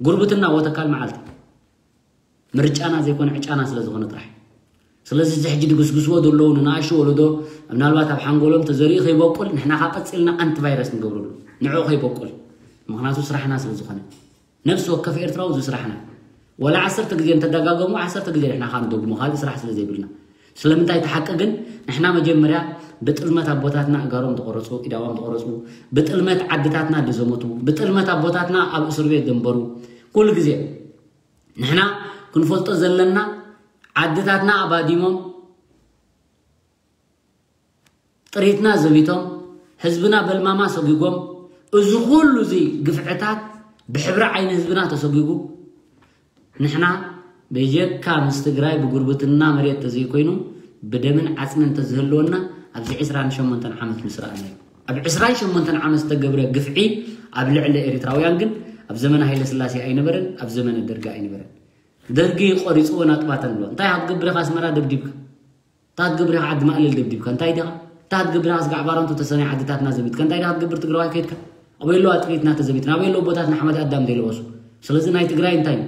ጉርብትና ወተካል መዓልቲ ምርጫና ዘይኮነ ዕጫና ስለ ዝኾነ ጥራሕ። ስለዚ እዚ ሕጂ ድግስግስዎ ዘለዉ ንንኣሽቱ ወለዶ ምናልባት ኣብ ሓንጎሎም ተዘሪኡ ከይበቁል ንሕና ካ ቀፂልና ኣንቲቫይረስ ንገብረሉ ንዕኡ ከይበቁል። ምክንያቱ ስራሕና ስለ ዝኾነ ነፍሲ ወከፍ ኤርትራዊ እዚ ስራሕና ወላ ዓሰርተ ግዜ እንተደጋገሙ ዓሰርተ ግዜ ንሕና ካ ንደግሞ ካልእ ስራሕ ስለ ዘይብልና። ስለምንታይ እቲ ሓቂ ግን ንሕና መጀመርያ ብጥልመት ኣቦታትና እጋሮም ተቆረፁ ኢዳዋም ተቆረፁ ብጥልመት ዓድታትና ድዘመቱ ብጥልመት ኣቦታትና ኣብ እስር ቤት ደንበሩ ኩሉ ግዜ ንሕና ክንፈልጦ ዘለና ዓድታትና ኣባዲሞም ጥሪትና ዘቢቶም ህዝብና በልማማ ሰጒጎም እዚ ኩሉ እዚ ግፍዕታት ብሕብሪ ዓይኒ ህዝብና ተሰጒጉ ንሕና በጀካ ምስ ትግራይ ብጉርብትና መሬት ተዘይኮይኑ ብደምን ዓፅምን እንተዝህልወና ኣብዚ ዕስራን ሸሞንተን ዓመት ምስራእና እዩ። ኣብ ዕስራን ሸሞንተን ዓመት ዝተገብረ ግፍዒ ኣብ ልዕሊ ኤርትራውያን ግን ኣብ ዘመነ ሃይለ ስላሴ ኣይነበረን፣ ኣብ ዘመነ ደርጊ ኣይነበረን። ደርጊ ቆሪፅዎ ናጥባተን ኣሎ። እንታይ ክትገብር ኢኻ ኣስመራ ደብዲብካ? እንታይ ክትገብር ኢኻ ዓዲ ማእለል ደብዲብካ? እንታይ ዲኻ እንታይ ክትገብር ኢኻ ስጋዕ ባረንቱ ተሰነይ ዓድታትና ዘቢትካ? እንታይ ዲኻ ክትገብር ትግራዋይ ከይድካ? ኣበይ ኣለዋ ጥሪትና ተዘቢትና ኣበይ ኣለዉ ቦታት ንሓመድ ኣዳም ዘይለበሱ? ስለዚ ናይ ትግራይ እንታይ እዩ?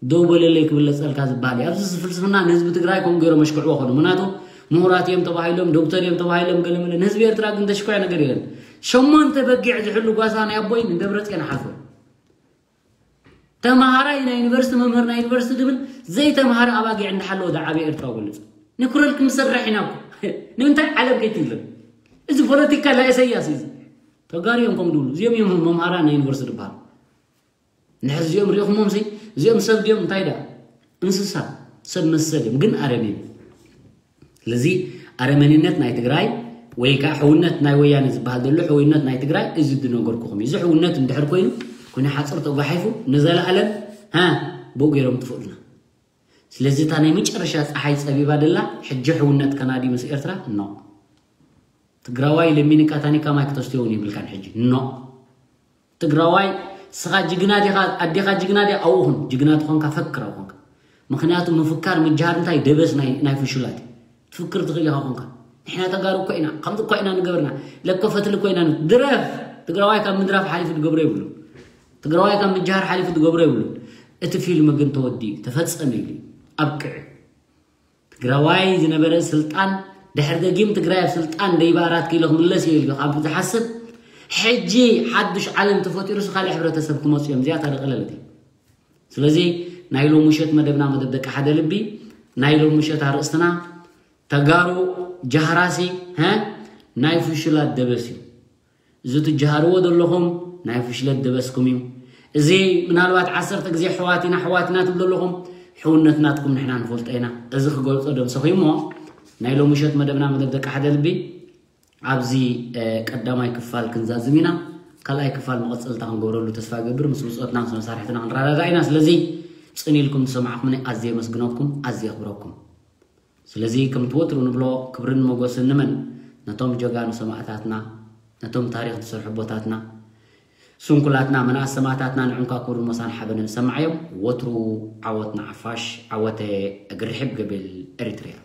ደው በለለይ ክብለፀልካ ዝበሃል እዩ። ኣብዚ ፍልስፍና ንህዝቢ ትግራይ ከምኡ ገይሮም ኣሽክዕዎ ኾኑ። ምክንያቱ ምሁራት እዮም ተባሂሎም ዶክተር እዮም ተባሂሎም ገለመለ ንህዝቢ ኤርትራ ግን ተሽኮዐ ነገር የለን። ሸሞንተ በጊዕ ዝሕሉ ጓሳ ናይ ኣቦይ ንደብረፅዮን ሓልፎ ተምሃራይ ናይ ዩኒቨርሲቲ መምህር ናይ ዩኒቨርሲቲ ድብል ዘይተምሃረ ኣባጊዕ እንዳሓለወ ዝዓበየ ኤርትራዊ በልፅ ንኩረልኩም ዝሰርሕ ኢና እኮ። ንምንታይ ዓለም ከይትግለም? እዚ ፖለቲካ ናይ ኢሳያስ እዩ። ተጋሩ እዮም ከም ድብሉ እዚኦም እዮም መምሃራን ናይ ዩኒቨርሲቲ ዝበሃሉ። ንሕዚ እዚኦም ሪኢኹሞም ሲ እዚኦም ሰብ ድዮም እንታይ ዳ እንስሳ ሰብ መሰል እዮም ግን ኣረሜን። ስለዚ ኣረመኔነት ናይ ትግራይ ወይ ከዓ ሕውነት ናይ ወያነ ዝበሃል ዘሎ ሕውነት ናይ ትግራይ እዚ ዝነገርኩኹም እዩ። እዚ ሕውነት እንድሕር ኮይኑ ኩነ ሓፅር ተጓሒፉ ንዘለኣለም ሃ ብኡ ገይሮም ጥፍኡልና። ስለዚ እታ ናይ መጨረሻ ፀሓይ ፀቢባ ደላ ሕጂ ሕውነት ከናዲ ምስ ኤርትራ ኖ ትግራዋይ ለሚንካ ታኒካ ማይ ክተስትዮ እውን የብልካን ሕጂ ኖ ትግራዋይ ስኻ ጅግና ዲኻ ኣዴኻ ጅግና ዲያ ኣብኡ ኹን ጅግና ትኾንካ ፈክር ኣብኡ ኾንካ ምኽንያቱ ምፍካር ምጅሃር እንታይ ደበስ ናይ ናይ ፍሹላት እዩ ትፍክር ትኽእል ኢኻ ኾንካ ንሕና ተጋሩ እኮ ኢና ከምዚ እኮ ኢና ንገብርና ለኮ ፈትሊ እኮ ኢና ድረፍ ትግራዋይ ካብ ምድራፍ ሓሊፉ ዝገብሮ ይብሉ ትግራዋይ ካብ ምጅሃር ሓሊፉ ዝገብሮ ይብሉ እቲ ፊልም ግን ተወዲኡ ተፈጸመ ኢሉ ኣብቅዕ ትግራዋይ ዝነበረ ስልጣን ድሕር ደጊም ትግራይ ኣብ ስልጣን ደይባ ኣራት ኪሎ ክምለስ እዩ ኢልካ ካብ ዝሓስብ ሕጂ ሓዱሽ ዓለም ተፈጢሩስ ካልእ ሕብረተሰብ ክመፁ እዮም እዚኣ ታደቀለለት እዩ ስለዚ ናይ ሎም ምሸት መደብና መደብ ደቂ ሓደ ልቢ ናይ ሎም ምሸት ኣርእስትና ተጋሩ ጃህራሲ ሀ ናይ ፍሹላት ደበስ እዩ እዚ ትጀሃርዎ ዘለኹም ናይ ፍሽለት ደበስኩም እዩ። እዚ ምናልባት ዓሰርተ ግዜ ሕዋት ኢና ሕዋት ኢና ትብሉ ዘለኹም ሕውነት ናትኩም ንሕና ንፈልጦ ኢና። እዚ ክገልጾ ደምሰኹ እሞ ናይ ሎምሸት መደብና መደብ ደቂ ሓደ ልቢ ኣብዚ ቀዳማይ ክፋል ክንዛዝም ኢና። ካልኣይ ክፋል መቐጸልታ ክንገብረሉ ተስፋ እገብር። ምስ ብጾትና ምስ መሳርሕትና ክንረዳዳ ኢና። ስለዚ ጽን ኢልኩም ዝሰማዕኩምኒ ኣዝየ የመስግነኩም፣ ኣዝየ የኽብረኩም። ስለዚ ከምቲ ወትሩ ንብሎ ክብርን ሞጎስን ንመን? ነቶም ጀጋኑ ሰማእታትና፣ ነቶም ታሪኽ ዝሰርሑ ኣቦታትና፣ ስንኩላትና፣ መናእሰይ ሰማእታትና ንዕንኳ ክብርን ሞሳን ሓበንን ሰማዓዮም። ወትሩ ዓወት ንዓፋሽ፣ ዓወተ እግሪ ሕብ ገብል ኤሪትሪያ።